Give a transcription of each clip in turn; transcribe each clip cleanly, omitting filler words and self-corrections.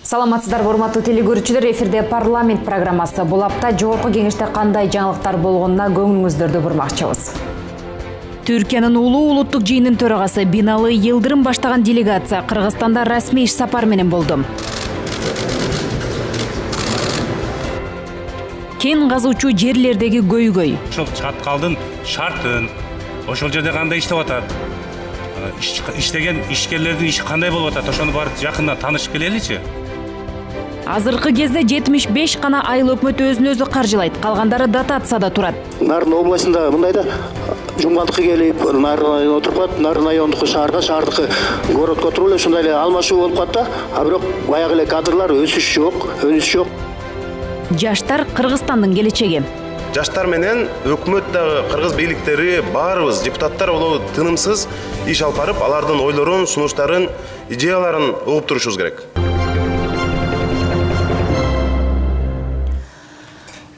Саламатсыздарбы, урматтуу телекөрүүчүлөр, эфирде парламент программасы. Бул апта жогорку кеңеште кандай жаңылыктар болгонуна көңүлүңүздөрдү бурмакчыбыз. Түркиянын улуу улуттук жыйынынын төрагасы Бинали Йылдырым баштаган делегация Кыргызстанда расмий иш сапар менен болду. Кен казуучу жерлердеги көйгөй. Ошол чаткалдын шартын, ошол жерде кандай иштеп атат, иштеген ишкерлердин иши кандай болуп атат, ошону барып жакындан таанышып келеличи. Азыркы кезде 75 гана айыл өкмөт өзүн өзү каржылайт, калгандары дотацияда турат. Нарын областында мындай да жумгандыкка келип, Нарын районуна отуруп калат, Нарын райондуку шаарга, шаардыкы городко отуруп эле ушундай эле алмашуу болуп калат да, а бирок баягы эле кадрлар өсүш жок, өнүш жок. Жаштар Кыргызстандын келечеги. Жаштар менен өкмөт дагы, кыргыз бийликтери, баарыбыз депутаттар болобу тынымсыз иш алып барып, алардын ойлорун, сунуштарын, идеяларын угуп турушубуз керек.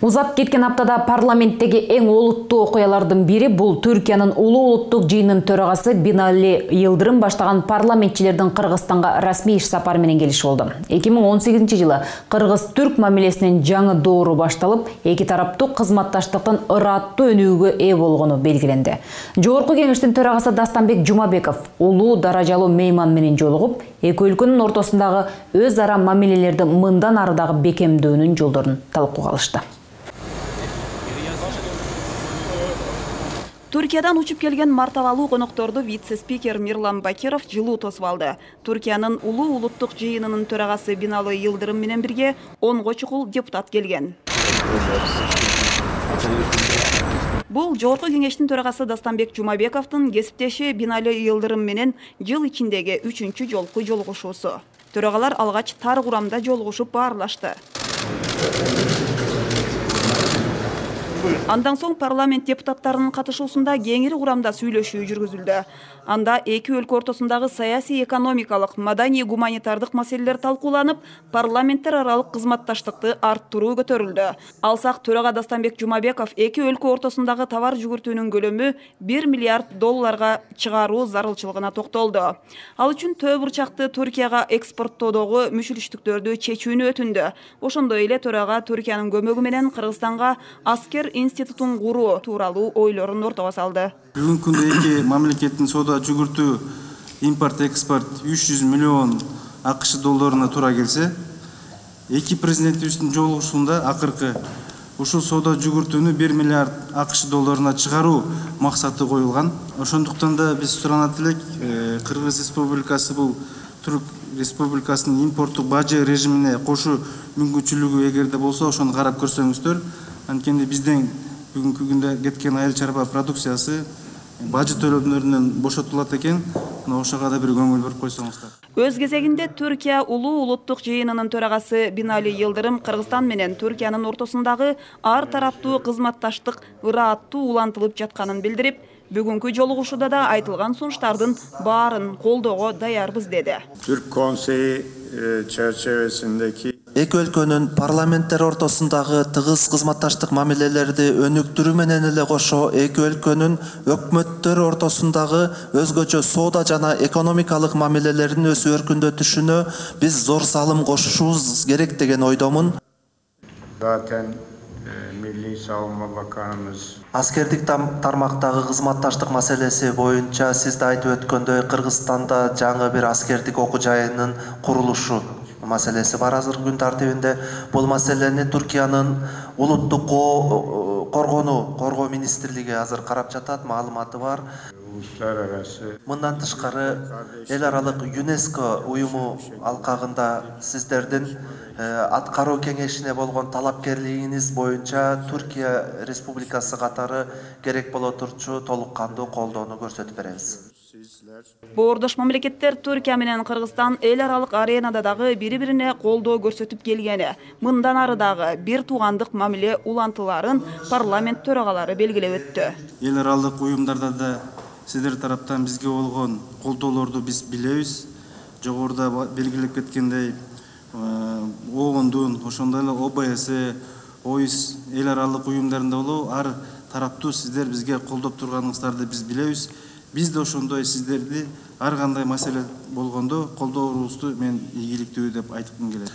Узап кеткен аптада парламенттеги эң олуттуу окуялардын бири бул Түркиянын улуу улуттук жыйынынын төрагасы Бинали Йылдырым баштаган парламентчилердин Кыргызстанга расмий иш сапары менен келиши болду. 2018-жылы кыргыз-түрк мамилесинин жаңы доору башталып, эки тараптуу кызматташтыктын ыраттуу өнүгүүгө ээ болгону белгиленди. Жогорку кеңештин төрагасы Дастанбек Жумабеков улуу даражалуу мейман менен жолугуп, эки өлкөнүн ортосундагы өз ара мамилелерди мындан ары дагы бекемдөөнүн жолдорун талкууга алышты. Түркиядан учуп келген мартабалуу конокторду вице-спикер Мирлан Бакиров жылуу тосуп алды. Түркиянын улуу улуттук жыйынынын төрагасы Бинали Йылдырым менен бирге 10 чукул депутат келген. Бул жогорку кеңештин төрагасы Дастанбек Жумабековдун кесиптеши Бинали Йылдырым менен жыл ичиндеги 3-чү жолку жолугушуусу. Төрагалар алгач тар курамда жолугушуп баарлашты. Андан соң парламент депутаттарынын катышуусунда кеңири курамда сүйлөшүү жүргүзүлдү. Анда эки өлкө ортосундагы саясий, экономикалык, маданий, гуманитардык маселелер талкууланып, парламенттер аралык кызматташтыкты арттыруу көтөрүлдү. Алсак төрага Дастанбек Жумабеков эки өлкө ортосундагы товар жүгүртүүнүн көлөмү $1 миллиард чыгаруу зарылчылыгына токтолду. Ал үчүн төө бурчакты Түркияга экспорттоодогу мүшүлүштүктөрдү чечүүнү өтүндү. Ошондой эле төрага Түркиянын көмөгү менен Кыргызстанга аскер институтун куруу тууралуу ойлорун ортого салды. Бүгүнкү күндө эки мамлекеттин соода жүгүртүү, импорт, экспорт 300 миллион АКШ долларына туура келсе, эки президентибиздин жолугушуусунда акыркы ушул соода жүгүртүүнү 1 миллиард АКШ долларына чыгаруу максаты коюлган. Ошондуктан да биз суранат элек, Кыргыз Республикасы бул Түрк Республикасынын импорттук бажы режимине кошуу мүмкүнчүлүгү эгерде болсо, ошону карап көрсөңүздөр. Анткени биздин бүгүнкү күндө кеткен айыл чарба продукциясы бажы төлөмдөрүнөн бошотулат экен. Ошого да бир көңүл буруп койсоңуздар. Өз кезегинде Түркия улуу улуттук жыйынынын төрагасы Бинали Йылдырым Кыргызстан менен Түркиянын ортосундагы ар тараптуу кызматташтык ыраттуу улантылып жатканын билдирип, бүгүнкү жолугушууда да айтылган сунуштардын баарын колдоого даярбыз деди. Türk Konseyi çerçevesindeki эки өлкөнүн парламенттер ортосундагы тыгыз кызматташтык мамилелерди өнүктүрүү менен эле кошо эки өлкөнүн өкмөттөр ортосундагы өзгөчө соода жана экономикалык мамилелердин өсүп өркүндөтүшүнө биз зор салым кошушубуз керек деген ойдомун. zaten Milli Savunma Bakanımız Аскердик тармактагы кызматташтык маселеси боюнча сиз да айтып өткөндөй, Кыргызстанда жаңы бир аскердик окуу жайынын курулушу маселеси бар азыркы күн тартибинде. Бул маселени Түркиянын улуттук коргоо министрлиги азыр карап жатат, маалыматы бар. Мындан тышкары эл аралык ЮНЕСКО уюму алкагында сиздердин аткаруу кеңешине болгон талапкерлигиңиз боюнча Түркия Республикасы катары керек боло турчу толук кандуу колдоону көрсөтүп беребиз. Боордош мамлекеттер Түркия менен Кыргызстан эл аралык аренада дагы бири-бирине колдоо көрсөтүп келгени, мындан ары дагы бир туугандык мамиле улантыларын парламент төрагалары белгилеп өттү. Эл аралык уюмдарда да сиздер тараптан бизге болгон колдоолорду биз билебиз. Жогоруда белгилеп кеткендей, ООНдун, ошондой эле ОБС, ОИС эл аралык уюмдарында болобу, ар тараптуу сиздер бизге колдоп турганыңыздарды биз билебиз. Биз да ошондой сиздерди ар кандай маселе болгондо колдооруубузду мен ийгиликтүү деп айткым келет.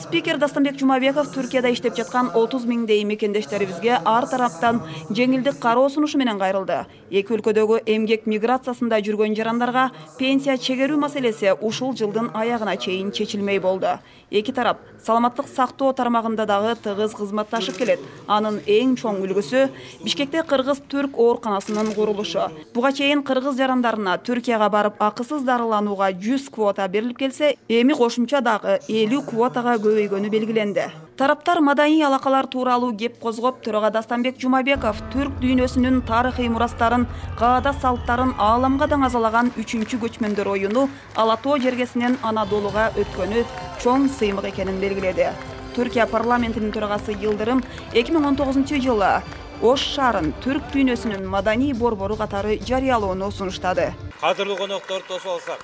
Спикер Дастанбек Жумабеков Түркияда иштеп жаткан 30 миңдей мекендештерибизге ар тараптан жеңилдик кароо сунушу менен кайрылды. Эки өлкөдөгү эмгек миграциясында жүргөн жарандарга пенсия чегерүү маселеси ушул жылдын аягына чейин чечилмей болду. Эки тарап саламаттык сактоо тармагында дагы тыгыз кызматташып келет. Анын эң чоң үлгүсү Бишкекте кыргыз-түрк ооруканасынын курулушу. Буга чейин кыргыз жарандарына Түркияга барып акысыз дарыланууга 100 квота берилип келсе, эми кошумча дагы 50 квотага көбөйгөнү белгиленди. Тараптар маданий алакалар тууралуу кеп козгоп, төрага Дастанбек Жумабеков түрк дүйнөсүнүн тарыхый мурастарын, каада салттарын ааламга даңазалаган 3-чү көчмөндөр оюну Ала-Тоо жергесинен Анадолуга өткөнү чоң сыймык экенин белгиледи. Түркия парламентинин төрагасы Йылдырым 2019-жылы Ош шаарын түрк дүйнөсүнүн маданий борбору катары жарыялоону сунуштады. Кадырлуу коноктор тосуп алсак.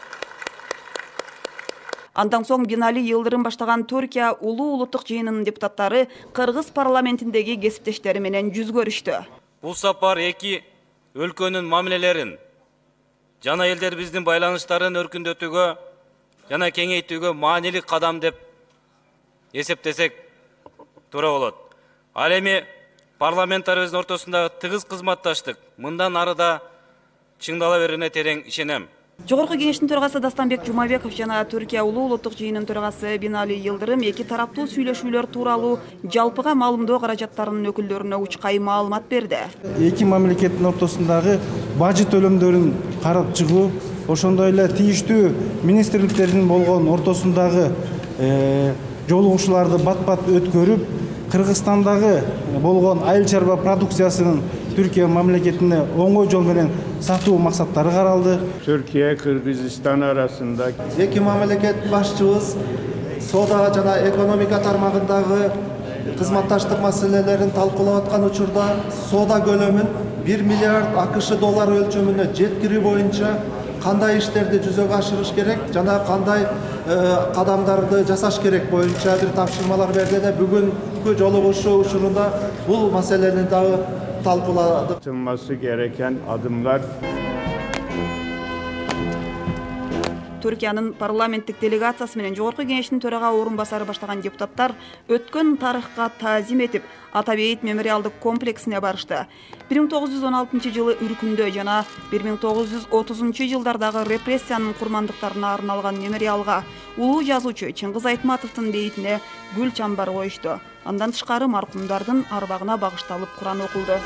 Андан соң Бинали Йылдырым баштаган Түркия улуу улуттук жыйынынын депутаттары Кыргыз парламентиндеги кесиптештери менен жүз көрүштү. Бул сапар эки өлкөнүн мамилелерин жана элдерибиздин байланыштарын өркүндөтүүгө жана кеңейтүүгө маанилик кадам деп эсептесек туура болот. Ал эми парламенттарыбыздын ортосундагы тыгыз кызматташтык мындан ары да чыңдала берерине терең ишенем. Жогорку кеңештин төрагасы Дастанбек Жумабеков жана Түркия улуу улуттук жыйынынын төрагасы Бинали Йылдырым эки тараптуу сүйлөшүүлөр тууралуу жалпыга маалымдоо каражаттарынын өкүлдөрүнө учкай маалымат берди. Эки мамлекеттин ортосундагы бажы төлөмдөрүн карап чыгуу, ошондой эле тийиштүү министрликтердин болгон ортосундагы жолугушууларды бат-бат өткөрүп, Кыргызстандагы болгон айыл чарба продукциясынын Түркия мамлекетине оңой жол менен сатуу максаттары каралды. Türkiye Kırgızistan arasında Эки мамлекет башчыбыз соода жана экономика тармагындагы кызматташтык маселелерин талкуулап аткан учурда соода көлөмүн 1 миллиард АКШ доллары өлчөмүнө жеткирүү боюнча кандай иштерди жүзөгө ашырыш керек жана кандай кадамдарды жасаш керек боюнча бир тапшырмалар берди да бүгүнкү жолугушуу учурунда бул маселени дагы talpuladık. atılması gereken adımlar. Түркиянын парламенттик делегациясы менен жогорку кеңештин төрага орун басары баштаган депутаттар өткөн тарыхка таазим этип Атабейит мемориалдык комплексине барышты. 1916 жылы Үркүндө жана 1930 жылдардагы репрессиянын курмандыктарына арналган мемориалга улуу жазуучу Чыңгыз Айтматовдун бейитине гүл чамбар коюшту. Андан тышкары маркумдардын арбагына багышталып Куран окулду.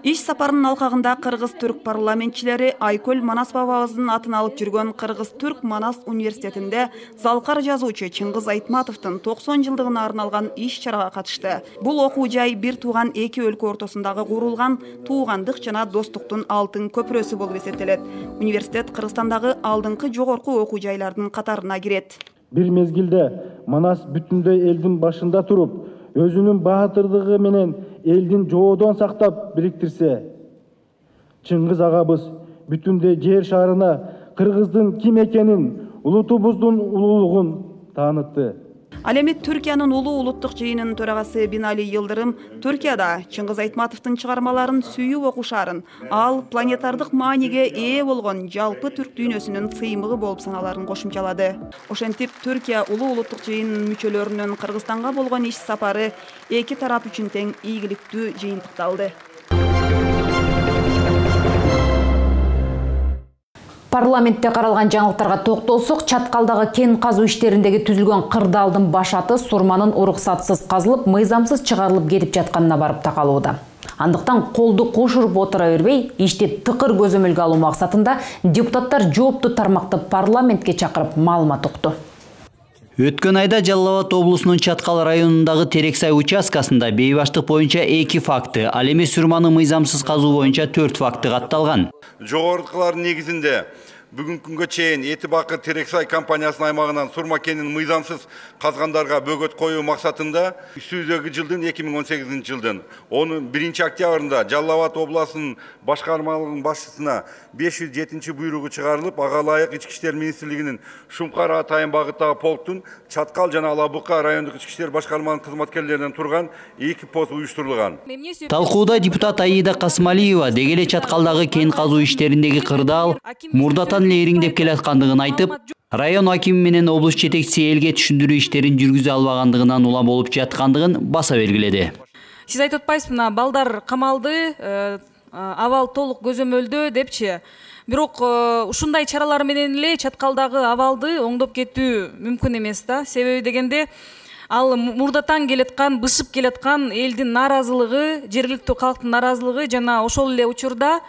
Иш сапарынын алкагында кыргыз-түрк парламентчилери Айкөл Манас бабабыздын атын алып жүргөн Кыргыз-түрк Манас университетинде залкар жазуучу Чыңгыз Айтматовдун 90 жылдыгына арналган иш-чарага катышты. Бул окуу жай бир тууган эки өлкө ортосундагы курулган туугандык жана достуктун алтын көпүрөсү болуп эсептелет. Университет Кыргызстандагы алдыңкы жогорку окуу жайлардын катарына кирет. Бир мезгилде Манас бүтүндөй элдин башында туруп, өзүнүн баатырдыгы менен элдин жоодон сактап бириктирсе, Чыңгыз агабыз бүтүндөй жер шарына кыргыздын ким экенин, улутубуздун улуулугун таанытты. Ал эми Түркиянын улуу улуттук жыйынынын төрагасы Бинали Йылдырым Түркияда Чыңгыз Айтматовдун чыгармаларын сүйүп окушарын, ал планетардык мааниге ээ болгон жалпы түрк дүйнөсүнүн сыймыгы болуп саналарын кошумчалады. Ошентип Түркия улуу улуттук жыйынынын мүчөлөрүнүн Кыргызстанга болгон иш сапары эки тарап үчүн тең ийгиликтүү жыйынтыкталды. Парламентте каралган жаңылыктарга токтолсок, Чаткалдагы кен казуу иштериндеги түзүлгөн кырдаалдын башаты сурманын уруксатсыз казылып, мыйзамсыз чыгарылып кетип жатканына барып такалууда. Андыктан колду кошуруп отура бербей, ишти тыкыр көзөмөлгө алуу максатында депутаттар жооптуу тармакты парламентке чакырып маалымат укту. Өткөн айда Жалал Абад облусунун Чаткал районундагы Терексай участкасында бейбаштык боюнча 2 факты, ал эми сурманы мыйзамсыз казуу боюнча 4 факты катталган. Жогоркулардын негизинде бүгүнкү күнгө чейин Эти Бакыр Терексай компаниясынын аймагынан сурма кенин мыйзамсыз казгандарга бөгөт коюу максатында үстүбүздөгү жылдын 2018 жылдын 1 октябрында Жалал Абад областынын башкармалыгынын башчысына 507 буйругу чыгарылып, ага ылайык Ички иштер министрлигинин Шумкар атайын багыттагы полктун Чаткал жана Ала Бука райондук ички иштер башкармаларынын кызматкерлеринен турган 2 пост уюштурулган. Талкууда депутат Аида Касмалиева деги эле Чаткалдагы кен казуу иштериндеги кырдаал мурдатан эле ириңдеп келаткандыгын айтып, район акими менен облус жетекчиси элге түшүндүрүү иштерин жүргүзө албагандыгынан улам болуп жаткандыгын баса белгиледи. Сиз айтып атпайсызбы, мына балдар камалды, абал толук көзөмөлдөө депчи. Бирок ушундай чаралар менен эле Чаткалдагы абалды оңдоп кетүү мүмкүн эмес да. Себеби дегенде ал мурдатан келаткан, бышып келаткан элдин наразылыгы, жергиликтүү калктын наразылыгы жана ошол эле учурда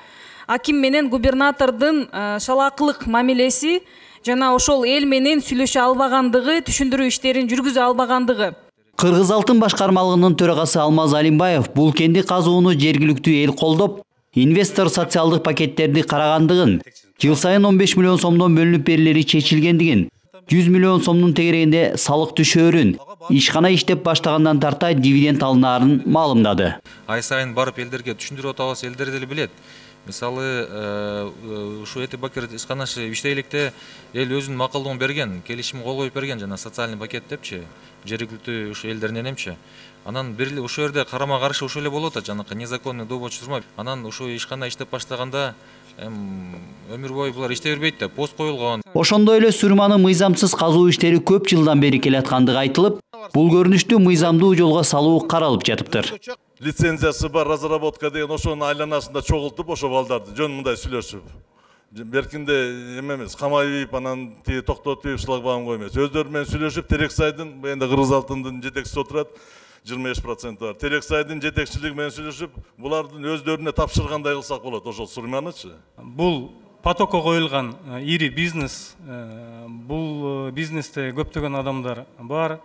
аким менен губернатордун шалаакылык мамилеси жана ошол эл менен сүйлөшө албагандыгы, түшүндүрүү иштерин жүргүзө албагандыгы. Кыргыз алтын башкармалыгынын төрагасы Алмаз Алимбаев бул кенди казууну жергиликтүү эл колдоп, инвестор социалдык пакеттерди карагандыгын, жыл сайын 15 миллион сомдон бөлүнүп берилери чечилгендигин, 100 миллион сомдун тегерегинде салык түшөөрүн, ишкана иштеп баштагандан тарта дивиденд алынаарын маалымдады. Ай сайын барып элдерге түшүндүрүп атабыз, элдер деле билет. Мисалы, ушу Эти Бакыр ишканасы иштейлекте эл өзүнүн макулдугун берген, келишим кол коюп берген жана социальный пакет депчи, жергиликтүү ушу элдеринен эмчи. Анан бир эле ушул жерде карама каршы ушул эле болуп атат, жанакы незаконный добыча турма. Анан ушу ишкана иштеп баштаганда өмүр бою булар иштей бербейт да, пост коюлган. Ошондой эле сурманы мыйзамсыз казуу иштери көп жылдан бери келаткандыгы айтылып, бул көрүнүштү мыйзамдуу жолго салуу каралып жатыптыр. Лицензиясы бар, разработка деген ошонун айланасында чогултуп, ошо балдарды жөн мындай сүйлөшүп. Беркинде эмес, камайып, анан токтотуп, шлагбаум коймойт. Өздөрү менен сүйлөшүп, Терексайдын, эми Кыргыз алтындын жетекчиси отурат, 25% бар. Терексайдын жетекчилиги менен сүйлөшүп, булардын өздөрүнө тапшыргандай кылсак болот, ошол сурманычы. Бул потокко коюлган ири бизнес, бул бизнесте көптөгөн адамдар бар.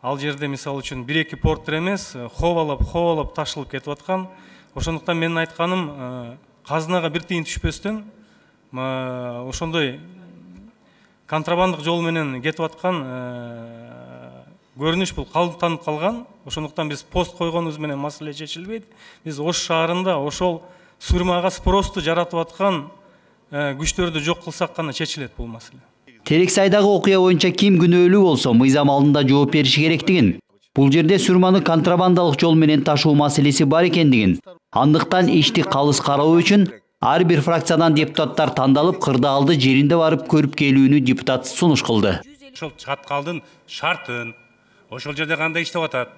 Ал жерде мисалы үчүн 1-2 порттер эмес, ховалап ташылып кетип аткан. Ошондуктан менин айтканым, казынага бир тыйын түшпөстөн ошондой контрабандык жол менен кетип аткан көрүнүш бул калыптанып калган. Ошондуктан биз пост койгонубуз менен маселе чечилбейт. Биз Ош шаарында ошол сурмага спросту жаратып аткан күчтөрдү жок кылсак гана чечилет бул маселе. Терексайдагы окуя боюнча ким күнөөлүү болсо мыйзам алдында жооп бериши керектигин, бул жерде сурманы контрабандалык жол менен ташуу маселеси бар экендигин, андыктан ишти калыс кароо үчүн ар бир фракциядан депутаттар тандалып, кырдаалды жеринде барып көрүп келүүнү депутат сунуш кылды. Ошол Чаткалдын шартын, ошол жерде кандай иштеп атат,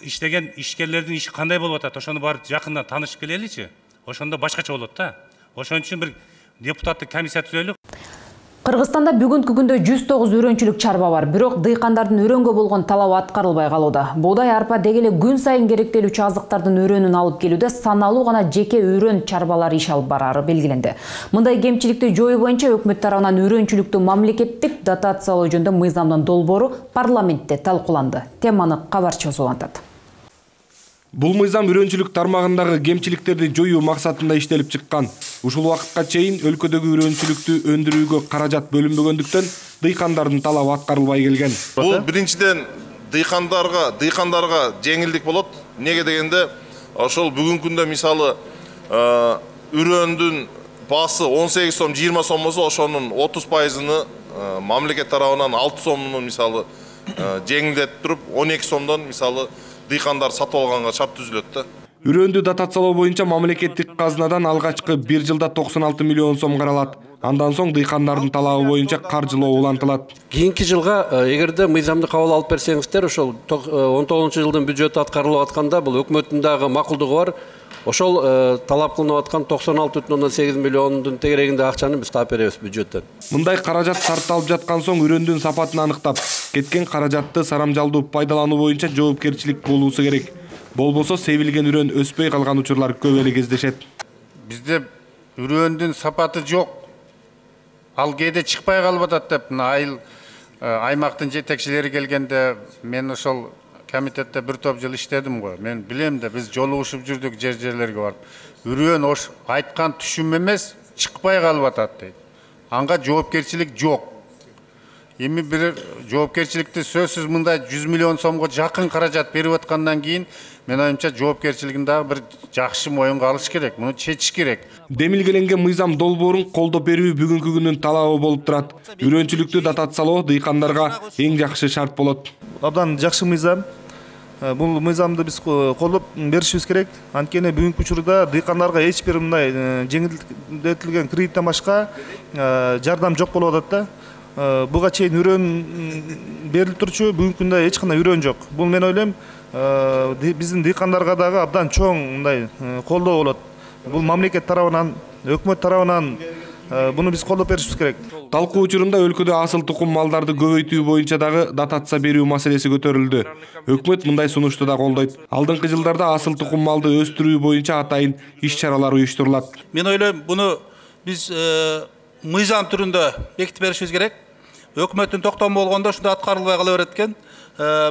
иштеген ишкерлердин иши кандай болуп атат, ошону барып жакындан таанышып келеличи. Ошондо башкача болот да. Ошон үчүн бир депутаттык комиссия түзөлүп. Кыргызстанда бүгүнкү күндө 109 үрөнчүлүк чарба бар, бирок дыйкандардын өрөнгө болгон талабы аткарылбай калууда. Буудай, арпа деги эле күн сайын керектелүүчү азыктардын өрөнүн алып келүүдө саналуу гана жеке өрөн чарбалары иш алып барары белгиленди. Мындай кемчиликти жоюу боюнча өкмөт тарабынан өрөнчүлүктү мамлекеттик дотациялоо жөнүндө мыйзамдын долбоору парламентте талкууланды. Теманы кабарчы улантат. Бул мыйзам үрөнчүлүк тармагындагы кемчиликтерди жоюу максатында иштелип чыккан. Ушул убакытка чейин өлкөдөгү үрөнчүлүктү өндүрүүгө каражат бөлүнбөгөндүктөн дыйкандардын талабы аткарылбай келген. Бул биринчиден дыйкандарга жеңилдик болот. Неге дегенде, ошол бүгүнкү күндө мисалы үрөндүн баасы 18 сом, 20 сом болсо, ошонун 30%-ны мамлекет тарабынан 6 сомдун мисалы жеңилдетип туруп, 12 сомдон мисалы дыйкандар сатып алганга шарт түзүлөт да. Үрөндү дотациялоо боюнча мамлекеттик казынадан алгачкы 1 жылда 96 миллион сом каралат. Андан соң дыйкандардын талабы боюнча каржылоо улантылат. Кийинки жылга эгерде мыйзамды кабыл алып берсеңиздер, ошол 19-жылдын бюджетти аткарылып атканда бул өкмөттүн дагы макулдугу бар. Ошол талап кылынып аткан 96,8 миллиондун тегерегинде акчаны биз таап беребиз бюджеттен. Мындай каражат сарпталып жаткан соң үрөндүн сапатын аныктап, кеткен каражатты сарамжалдуу пайдалануу боюнча жоопкерчилик болуусу керек. Болбосо себилген үрөн өспөй калган учурлар көп эле кездешет. Бизде үрөндүн сапаты жок. Ал кээде чыкпай калып атат деп аймактын жетекчилери келгенде мен ошол комитетте бир топ жыл иштедим го. Мен билем да, биз жолугушуп жүрдүк жерлерге барып. Үрөн айткан түшүм эмес, чыкпай калып атат дейт. Анга жоопкерчилик жок. Эми бир жоопкерчиликти сөзсүз мындай 100 миллион сомго жакын каражат берип аткандан кийин мен оюмча жоопкерчилигин дагы бир жакшы моюнга алыш керек. Муну чечиш керек. Демилгеленген мыйзам долбоорун колдоп берүү бүгүнкү күндүн талабы болуп турат. Үрөнчүлүктү датациялоо дыйкандарга эң жакшы шарт болот. Абдан жакшы мыйзам. Бул мыйзамды биз колдоп беришибиз керек. Анткени бүгүнкү учурда дыйкандарга эч бир мындай жеңилдетилген кредиттен башка жардам жок болуп атат да. Буга чейин үрөн берилип турчу, бүгүнкү күндө эч кандай үрөн жок. Бул мен ойлойм, биздин дыйкандарга дагы абдан чоң мындай колдоо болот. Бул мамлекет тарабынан, өкмөт тарабынан буну биз колдоп беришибиз керек. Талкуу учурунда өлкөдө асыл тукум малдарды көбөйтүү боюнча дагы дотация берүү маселеси көтөрүлдү. Өкмөт мындай сунушту да колдойт. Алдыңкы жылдарда асыл тукум малды өстүрүү боюнча атайын иш-чаралар уюштурулат. Мен ойлойм, буну биз мыйзам түрүндө бекитип беришибиз керек. Өкмөттүн токтому болгондо ушунда аткарылбай кала берет экен.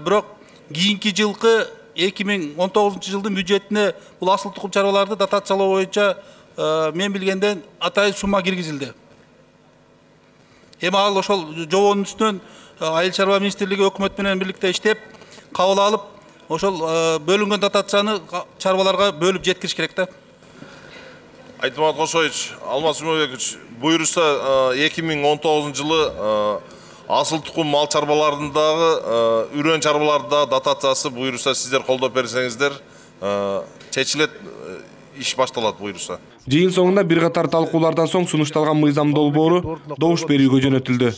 Бирок кийинки жылкы 2019 жылдын бюджетине бул асыл тукум чарбаларды дотациялоо боюнча мен билгенден атайын сумма киргизилди. Эми ал ошол жобонун үстүнөн Айыл чарба министрлиги өкмөт менен бирlikte иштеп, кабыл алып, ошол бөлүнгөн дотацияны чарбаларга бөлүп жеткириш керек да. Айтмат Кошоевич, Алмаз Умарбекович, буюрса 2019 жылы асыл тукум мал чарбаларындагы үрөн чарбаларда дотациясы буюрса сиздер колдоп берсеңиздер чечилет, иш башталат буюрса. Жыйын соңунда бир катар талкуулардан соң сунушталган мыйзам долбоору добуш берүүгө жөнөтүлдү.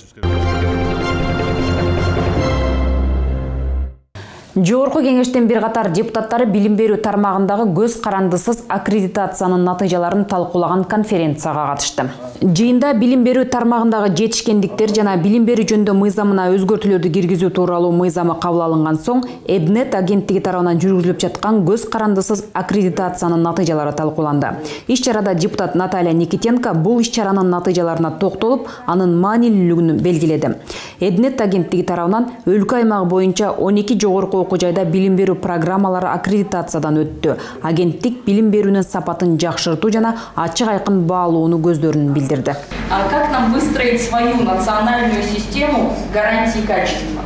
Жогорку кеңештин бир катар депутаттары билим берүү тармагындагы көз карандысыз аккредитациянын натыйжаларын талкуулаган конференцияга катышты. Жыйында билим берүү тармагындагы жетишкендиктер жана билим берүү жөнүндө мыйзамына өзгөртүүлөрдү киргизүү тууралуу мыйзамы кабыл алынган соң Эднет агенттиги тарабынан жүргүзүлүп жаткан көз карандысыз аккредитациянын натыйжалары талкууланды. Иш-чарада депутат Наталья Никитенко бул иш-чаранын натыйжаларына токтолуп, анын маанилүүлүгүн белгиледи. Эднет агенттиги тарабынан өлкө аймагы боюнча 12 жогорку окуу жайда билим берүү программалары аккредитациядан өттү. Агенттик билим берүүнүн сапатын жакшыртуу жана ачык айкын баалоону көздөрүн билдирди. Как нам выстроить свою национальную систему гарантии качества?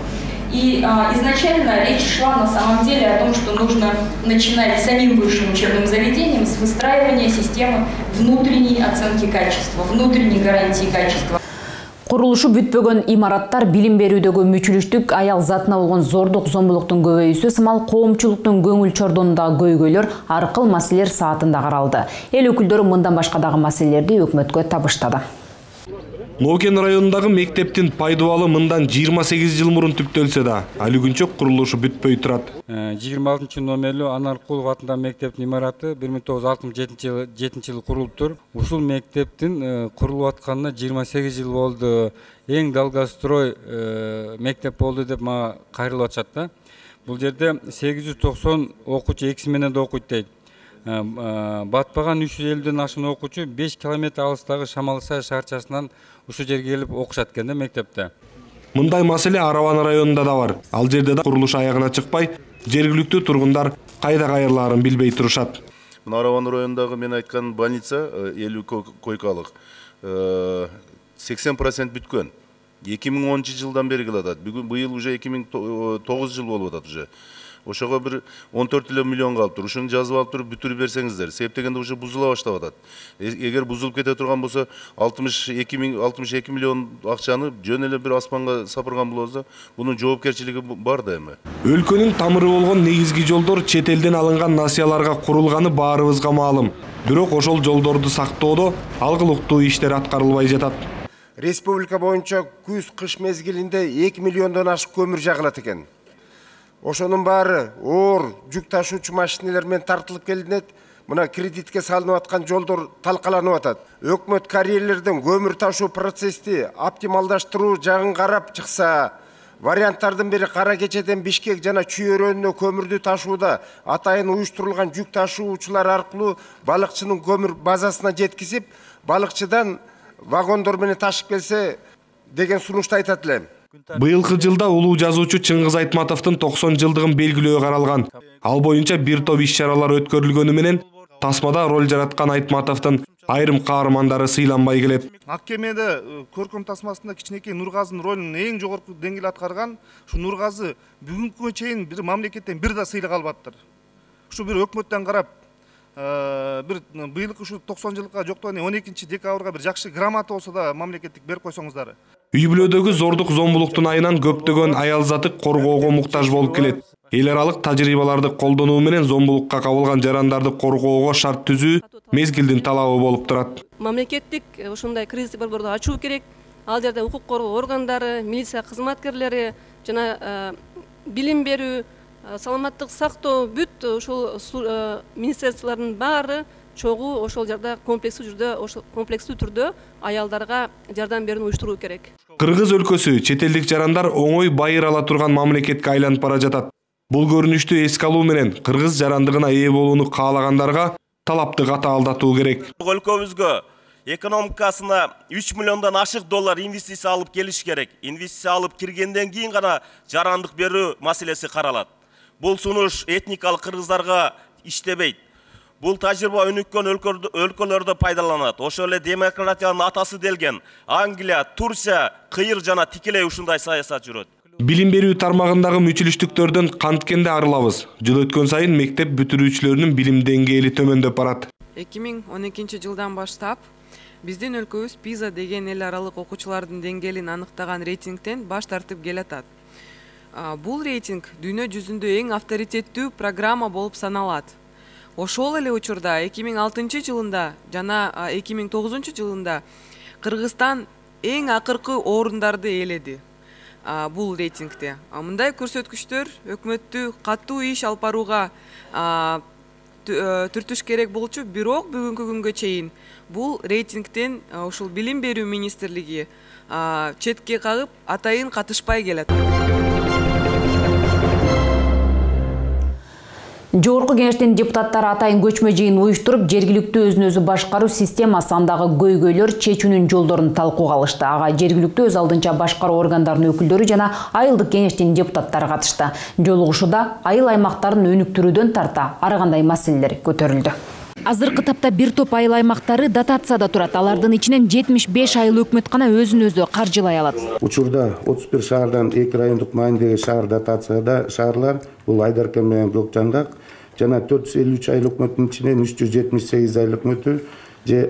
И изначально речь шла на самом деле о том, что нужно начинать самим высшим учебным заведением с выстраивания системы внутренней оценки качества, внутренней гарантии качества. Курулушу бүтпөгөн имараттар, билим берүүдөгү мүчүлүштүк, аял затына болгон зордук, зомбулуктун көбөйүүсү сымал коомчулуктун көңүл чордонундагы көйгөйлөр аркыл маселелер саатында каралды. Эл өкүлдөрү мындан башка дагы маселелерди өкмөткө табыштады. Нокен районундагы мектептин пайдубалы мындан 28 жыл мурун түптөлсө да, али күнчө курулушу бүтпөй турат. 26 номерлүү Анаркулов атындагы мектептин имараты 1967 жылы курулуптур. Ушул мектептин курулуп атканына 28 жыл болду. Эң долгострой мектеп болду деп мага кайрылып атышат да. Бул жерде 890 окуучу экиси менен да окуйт дейт. Батпаган 350ден ашын окуучу 5 километр алыстагы Шамалсай шаарчасынан ушу жерге келип окушат экен да мектепте. Мындай маселе Араван районунда да бар. Ал жерде да курулуш аягына чыкпай, жергиликтүү тургундар кайда кайрылаарын билбей турушат. Араван районундагы мен айткан больница 50 койкалык 80% бүткөн. 2010 жылдан бери кылат. Бүгүн быйыл уже 2009 жыл болуп атат уже. Ошого бир 14 миллион калыптыр. Ушуну жазып алып туруп бүтүрүп берсеңиздер. Себеп дегенде уже бузула баштап атат. Эгер бузулуп кете турган болсо 62 миллион акчаны жөн эле бир аспанга сапырган болобуз, бунун жоопкерчилиги бар да эми. Өлкөнүн тамыры болгон негизги жолдор чет элден алынган насыяларга курулганы баарыбызга маалым. Бирок ошол жолдорду сактоодо алгылыктуу иштер аткарылбай жатат. Республика боюнча күз-кыш мезгилинде 2 миллиондон ашык көмүр жагылат экен. Ошонун баары оор жүк ташуучу машиналар менен тартылып келинет. Мына кредитке салынып аткан жолдор талкаланып атат. Өкмөт карьерлерден көмүр ташуу процессти оптималдаштыруу жагын карап чыкса, варианттардын бири Кара Кечеден Бишкек жана Чүй өрөөнүнө көмүрдү ташууда атайын уюштурулган жүк ташуучулар аркылуу балыкчынын көмүр базасына жеткизип, балыкчыдан вагондор менен ташып келсе деген сунушту айтат элем. Быйылкы жылда улуу жазуучу Чыңгыз Айтматовдун 90 жылдыгын белгилөө каралган. Ал боюнча бир топ иш-чаралар өткөрүлгөнү менен тасмада роль жараткан Айтматовдун айрым каармандары сыйланбай келет. Ак кемеде көркөм тасмасында кичинекей Нургазынын ролун эң жогорку деңгээлде аткарган ушу Нургазы бүгүнкүгө чейин бир мамлекеттен бир да сыйлык албаттыр. Ушу бир өкмөттөн карап бир быйылкы ушу 90 жылга жоктон 12 декабрга бир жакшы грамота болсо да мамлекеттик берип койсоңуздар. Үй бүлөдөгү зордук зомбулуктун айынан көптөгөн аял заты коргоого муктаж болуп келет. Эл аралык тажрыйбаларды колдонуу менен зомбулукка кабылган жарандарды коргоого шарт түзүү мезгилдин талабы болуп турат. Мамлекеттик ушундай кризистик борборду ачуу керек. Ал жерде укук коргоо органдары, милиция кызматкерлери жана билим берүү, саламаттык сактоо бүт ушул министрликтердин баары чогуу ошол жерде комплекстүү түрдө аялдарга жардам берүүнү уюштуруу керек. Кыргыз өлкөсү чет элдик жарандар оңой байыр ала турган мамлекетке айланып бара жатат. Бул көрүнүштү эске алуу менен кыргыз жарандыгына ээ болууну каалагандарга талапты катаалдатуу керек. Өлкөбүзгө экономикасына 3 миллиондон ашык доллар инвестиция алып келиш керек. Инвестиция алып киргенден кийин гана жарандык берүү маселеси каралат. Бул сунуш этникалык кыргыздарга иштебейт. Бул тажрыйба өнүккөн өлкөлөрдө пайдаланат. Ошол эле демократиянын атасы делген Англия, Турция, Кыйыр жана тикелей ушундай саясат жүрөт. Билим берүү тармагындагы мүчүлүштүктөрдөн канткенде арылабыз. Жыл өткөн сайын мектеп бүтүрүүчүлөрүнүн билим деңгээли төмөндөп барат. 2012 жылдан баштап биздин өлкөбүз PISA деген эл аралык окуучулардын деңгээлин аныктаган рейтингден баш тартып келатат. Бул рейтинг дүйнө жүзүндө эң авторитеттүү программа болуп саналат. Ошол эле учурда 2006 жылында жана 2009 жылында Кыргызстан эң акыркы орундарды ээледи бул рейтингде. Мындай көрсөткүчтөр өкмөттү катуу иш алып барууга түртүш керек болчу, бирок бүгүнкү күнгө чейин бул рейтингден ушул билим берүү министрлиги четке кагып атайын катышпай келет. Жогорку кеңештин депутаттары атайын көчмө жыйын уюштуруп, жергиликтүү өзүн өзү башкаруу системасы андагы көйгөйлөр чечүүнүн жолдорун талкууга алышты. Ага жергиликтүү өз алдынча башкаруу органдарынын өкүлдөрү жана айылдык кеңештин депутаттары катышты. Жолугушууда айыл аймактарын өнүктүрүүдөн тарта ар кандай маселелер көтөрүлдү. Азыркы тапта бир топ айыл аймактары дотацияда турат. Алардын ичинен 75 айыл өкмөт гана өзүн өзү каржылай алат. Учурда 31 шаардан 2 райондук маанидеги шаар дотацияда шаарлар бул Айдаркен менен Көкжаңгак жана 453 айыл өкмөттүн ичинен 378 айыл өкмөтү же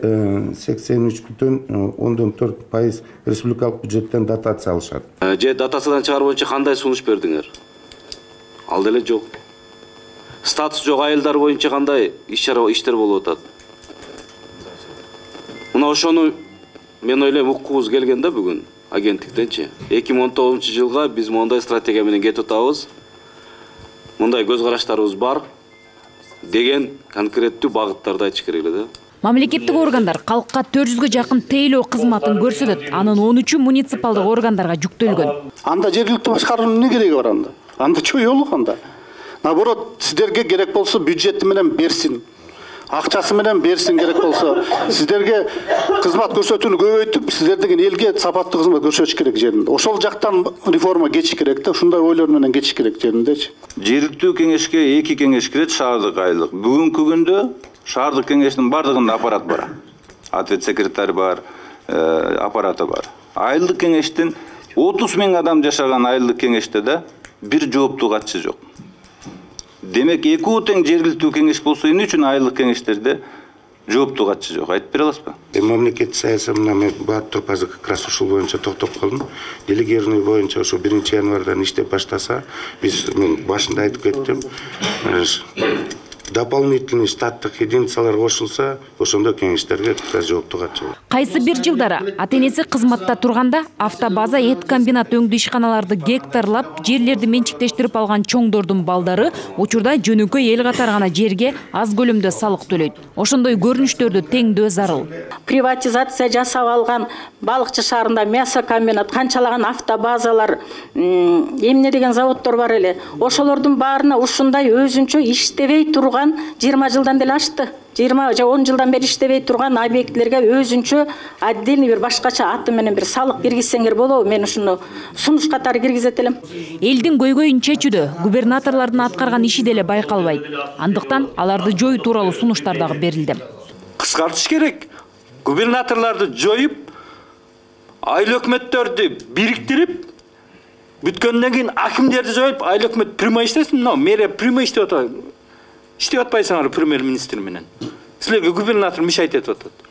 83,4% республикалык бюджеттен дотация алышат. Же дотациядан чыгаруу боюнча кандай сунуш бердиңер? Ал деле жок. Статус жок айылдар боюнча кандай иштер болуп атат? Мына ошону мен ойлойм уккубуз келген да бүгүн агенттиктенчи. 2019 жылга биз мондай стратегия менен кетип атабыз. Мындай көз караштарыбыз бар деген конкреттүү багыттарды айтыш керек эле да. Мамлекеттик органдар калкка 400гө жакын тейлөө кызматын көрсөтөт. Анын 13-ü муниципалдык органдарга жүктөлгөн. Анда жергиликтүү башкаруунун эмне кереги бар анда? Анда чоёлук анда. Наоборот, сиздерге керек болсо бюджети менен берсин. Акчасы менен берсин керек болсо. Сиздерге кызмат көрсөтүүнү көбөйтүп, сиздер деген элге сапаттуу кызмат көрсөтүш керек жеринде. Ошол жактан реформа keçиш керек да, ушундай ойлор менен keçиш керек жериндечи. Жергиликтүү кеңешке 2 кеңеш кирет, шаардык айылдык. Бүгүнкү күндө шаардык кеңештин бардыгында аппарат бар. Ответ секретарь бар, аппараты бар. Айылдык кеңештин 30 000 адам жашаган айылдык кеңеште да бир жооптуу катчы жок. Демек, экөө тең жергиликтүү кеңеш болсо эмне үчүн айылдык кеңештерде жооптуу катчы жок? Айтып бере аласызбы? Мамлекеттик саясат мен баап туруп азыр как раз ушул боюнча токтоп калдым. Делегированный боюнча ошо 1 январдан иштеп баштаса, мен башында айтып кеттим. Дополнительный штаттык единицалар кошулса, ошондо кеңештерге жооптуу катчы болот. Кайсы бир жылдары ата-энеси кызматта турганда автобаза эт комбинат өңдүү ишканаларды гектарлап, жерлерди менчиктештирип алган чоңдордун балдары учурда жөнөкөй эл катары гана жерге аз көлөмдө салык төлөйт. Ошондой көрүнүштөрдү теңдөө зарыл. Приватизация жасап алган балыкчы шаарында мясо комбинат, канчалаган автобазалар, эмне деген заводдор бар эле. Ошолордун баарына ушундай өзүнчө иштебей турган 20 жылдан деле ашты. 20 же 10 жылдан бери иштебей турган объектилерге өзүнчө отдельный бир башкача аты менен бир салык киргизсеңер болобу? Мен ушуну сунуш катары киргизет элем. Элдин көйгөйүн чечүүдө губернаторлордун аткарган иши деле байкалбайт. Андыктан аларды жоюу тууралуу сунуштар дагы берилди. Кыскартыш керек. губернаторларды жоюп, айыл өкмөттөрдү бириктирип, бүткөндөн кийин акимдерди жоюп, айыл өкмөт прямой иштесин, но мэрия прямой иштеп атат. Иштеп атпайсыңар премьер-министр менен. Силерге губернатор мешайт этип атат.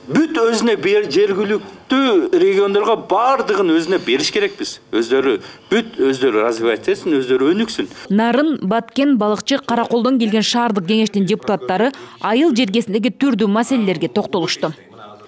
Бүт өзүнө жергиликтүү региондорго бардыгын өзүнө бериш керекпиз. Өздөрү развивать этсин, өздөрү өнүксүн. Нарын, Баткен, Балыкчы, Караколдон келген шаардык кеңештин депутаттары айыл жергесиндеги түрдүү маселелерге токтолушту.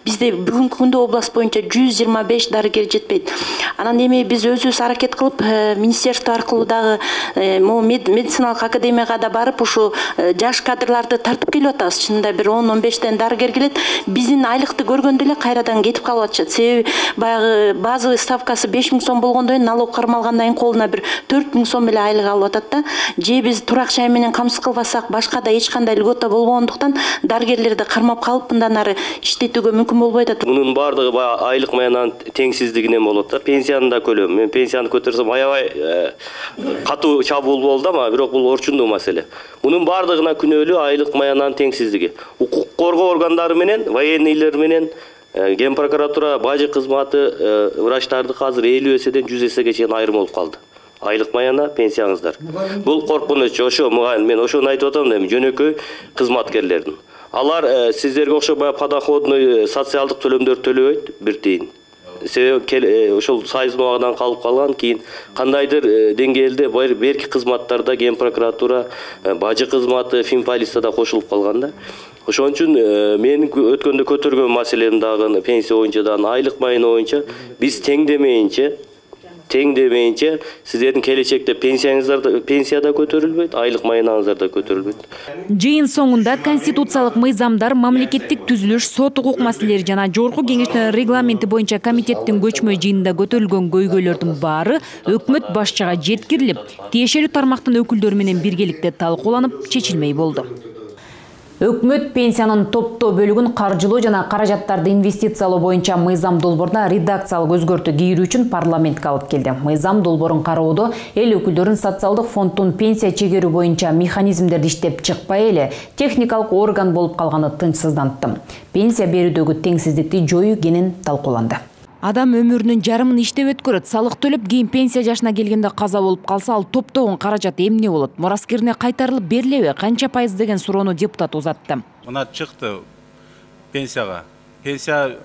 Бизде бүгүнкү күндө область боюнча 125 дарыгер жетпейт. Анан эми биз өзүбүз аракет кылып, министерство аркылуу дагы медициналык академияга да барып, ушу жаш кадрларды тартып келип атабыз. Чынында бир 10-15тен дарыгер келет. Биздин айлыкты көргөндө эле кайрадан кетип калып атышат. Себеби баягы базовый ставкасы 5000 сом болгондон кийин налог кармалгандан кийин колуна бир 4000 сом эле айлык алып атат да. Же биз турак жай менен камсыз кылбасак, башка да эч кандай льгота болбогондуктан дарыгерлерди кармап калып, мындан ары иштетүүгө мүмкүн болбойт атат. Мунун бардыгы баягы айлык маянанын теңсиздигинен болот да. Пенсиянын да көлөмү. Мен пенсияны көтөрсөм аябай катуу чабуул болду, ама бирок бул орчундуу маселе. Мунун бардыгына күнөөлүү айлык маянанын теңсиздиги. Укук коргоо органдары менен, военныйлер менен, Ген прокуратура, бажы кызматы, врачтардыкы азыр 50 эседен 100 эсеге чейин айрым болуп калды. Айлык маяна, пенсияңыздар. Бул коркунуч, ошо мен ошону айтып атам, жөнөкөй кызматкерлердин. Алар сиздерге окшобой подоходный социалдык төлөмдөрдү төлөбөйт, бир тиын. Себеби ошол сайыздын убагынан калып калган, кийин кандайдыр деңгээлде берки кызматтарда Ген прокуратура, бажы кызматы, финполиция да кошулуп калган да. Ошон үчүн мен өткөндө көтөргөн маселем дагы пенсия боюнча да, айлык майына боюнча биз тең демейинче сиздердин келечекте пенсия да көтөрүлбөйт, айлык маянаңыздар да көтөрүлбөйт. Жыйын соңунда конституциялык мыйзамдар, мамлекеттик түзүлүш, сот укук маселелери жана жогорку кеңештин регламенти боюнча комитеттин көчмө жыйынында көтөрүлгөн көйгөйлөрдүн баары өкмөт башчыга жеткирилип, тиешелүү тармактын өкүлдөрү менен биргеликте талкууланып, чечилмей болду. Өкмөт пенсиянын топтоо бөлүгүн каржылоо жана каражаттарды инвестициялоо боюнча мыйзам долборуна редакциялык өзгөртүү кийирүү үчүн парламентке алып келди. Мыйзам долбоорун кароодо эл өкүлдөрүн социалдык фонддун пенсия чегерүү боюнча механизмдерди иштеп чыкпай эле техникалык орган болуп калганы тынчсыздантты. Пенсия берүүдөгү теңсиздикти жоюу кенен талкууланды. Адам өмүрүнүн жарымын иштеп өткөрөт, салык төлөп, кийин пенсия жашына келгенде каза болуп калса, ал топтогон каражат эмне болот? Мураскерине кайтарылып берилеби? Канча пайыз деген суроону депутат узатты. Мына чыкты пенсияга. Пенсия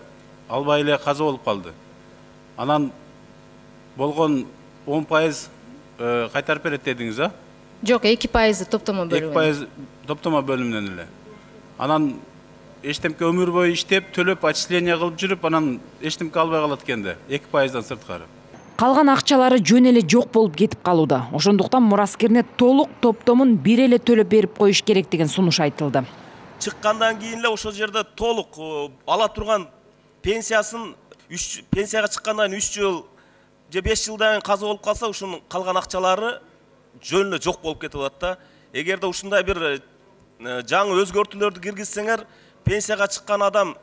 албай эле каза болуп калды. Анан болгон 10% кайтарып берет дедиңиз, а? Жок, 2% топтомо бөлүмүнөн. 2% топтомо бөлүмүнөн эле. Анан эчтемке өмүр бою иштеп, төлөп, отчисление кылып жүрүп, анан эчтемке албай калат экенде, 2%дан сырткары. Калган акчалары жөн эле жок болуп кетип калууда. Ошондуктан мураскерине толук топтомун бир эле төлөп берип коюш керек деген сунуш айтылды. Чыккандан кийин эле ошол жерде толук ала турган пенсиясын пенсияга чыккандан 3 жыл же 5 жылдан кийин каза болуп калса, ушунун калган акчалары жөн эле жок болуп кетип атат да. Эгерде ушундай бир жаңы өзгөртүүлөрдү киргизсеңер, пенсияга чыккан адам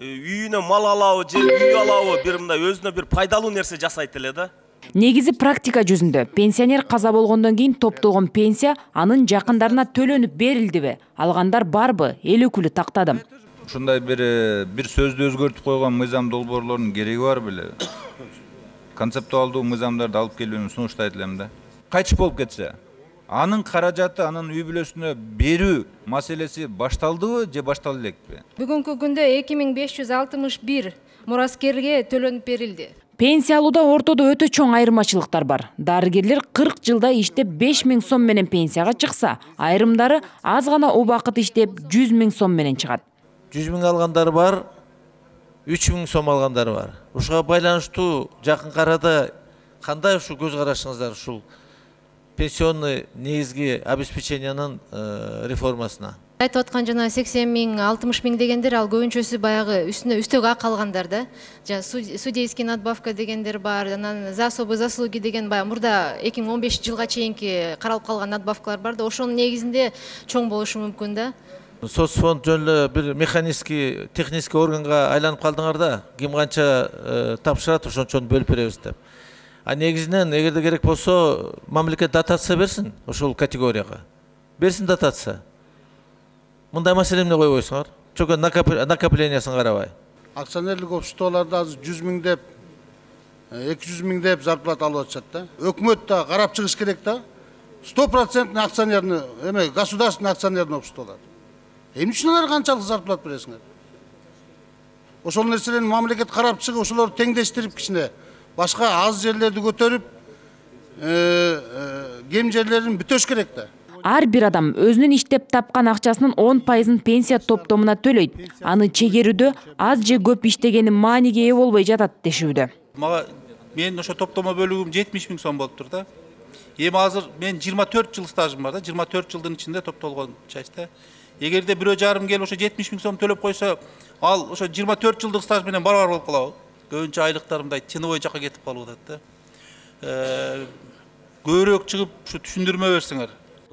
үйүнө мал алабы же үй алабы, бир мындай өзүнө бир пайдалуу нерсе жасайт эле да. Негизи практика жүзүндө пенсионер каза болгондон кийин топтогон пенсия анын жакындарына төлөнүп берилдиби? Алгандар барбы? Эл өкүлү тактады. Ушундай бир сөздү өзгөртүп койгон мыйзам долбоорлорунун кереги бар беле? Концептуалдуу мыйзамдарды алып келүүнү сунуштайт элем да. Кайтыш болуп кетсе, анын каражаты, анын үй бүлөсүнө берүү маселеси башталдыбы же баштала элекпи? Бүгүнкү күндө 2561 мураскерге төлөнүп берилди. Пенсия алууда ортодо өтө чоң айырмачылыктар бар. Дарыгерлер 40 жылда иштеп 5000 сом менен пенсияга чыкса, айрымдары аз гана убакыт иштеп 100 000 сом менен чыгат. 100 000 алгандар бар, 3000 сом алгандар бар. Ушуга байланыштуу жакын арада кандай ушу көз карашыңыздар ушул пенсионный негизги обеспечениянын реформасына? Айтып аткан жана 80 000, 60 000 дегендер ал көбүнчөсү баягы үстөк ак алгандар да. Жана судейский надбавка дегендер бар, анан за особые заслуги деген баягы мурда 2015 жылга чейинки каралып калган надбавкалар бар да. Ошонун негизинде чоң болушу мүмкүн да. Соцфонд жөн эле бир механический, технический органга айланып калдыңар да. Ким канча тапшырат, ошончону бөлүп беребиз деп. А негизинен эгерде керек болсо мамлекет дотация берсин ошол категорияга. Берсин дотация. Мындай маселе эмне койбойсуңар? чөкөн накоплениясын карабай. Акционерлик обществолордо азыр 100 000 деп, 200 000 деп зарплата алып атышат да. Өкмөт да карап чыгыш керек да. 100% акционерный, государственный акционерный обществолор. Эмне үчүн алар канчалык зарплата бересиңер? Ошол нерселерди мамлекет карап чыгып, ошолорду теңдештирип кичине башка аз жерлерди көтөрүп, кем жерлерин бүтөш керек да. Ар бир адам өзүнүн иштеп тапкан акчасынын 10%-ын пенсия топтомуна төлөйт. Аны чегерүүдө аз же көп иштегени мааниге ээ болбой жатат дешүүдө. Мага менин ошо топтомо бөлүгүм 70 000 сом болуп тур да. Эми азыр мен 24 жыл стажым бар да, 24 жылдын ичинде топтолгон часть. Эгерде бирөө жарым келип ошо 70 000 сом төлөп койсо, ал ошо 24 жылдык стаж менен барабар болуп калабы. Көбүнчө айлыктар мындай тыныбой жакка кетип калып атат да. Көбүрөөк чыгып ушу түшүндүрмө берсеңер.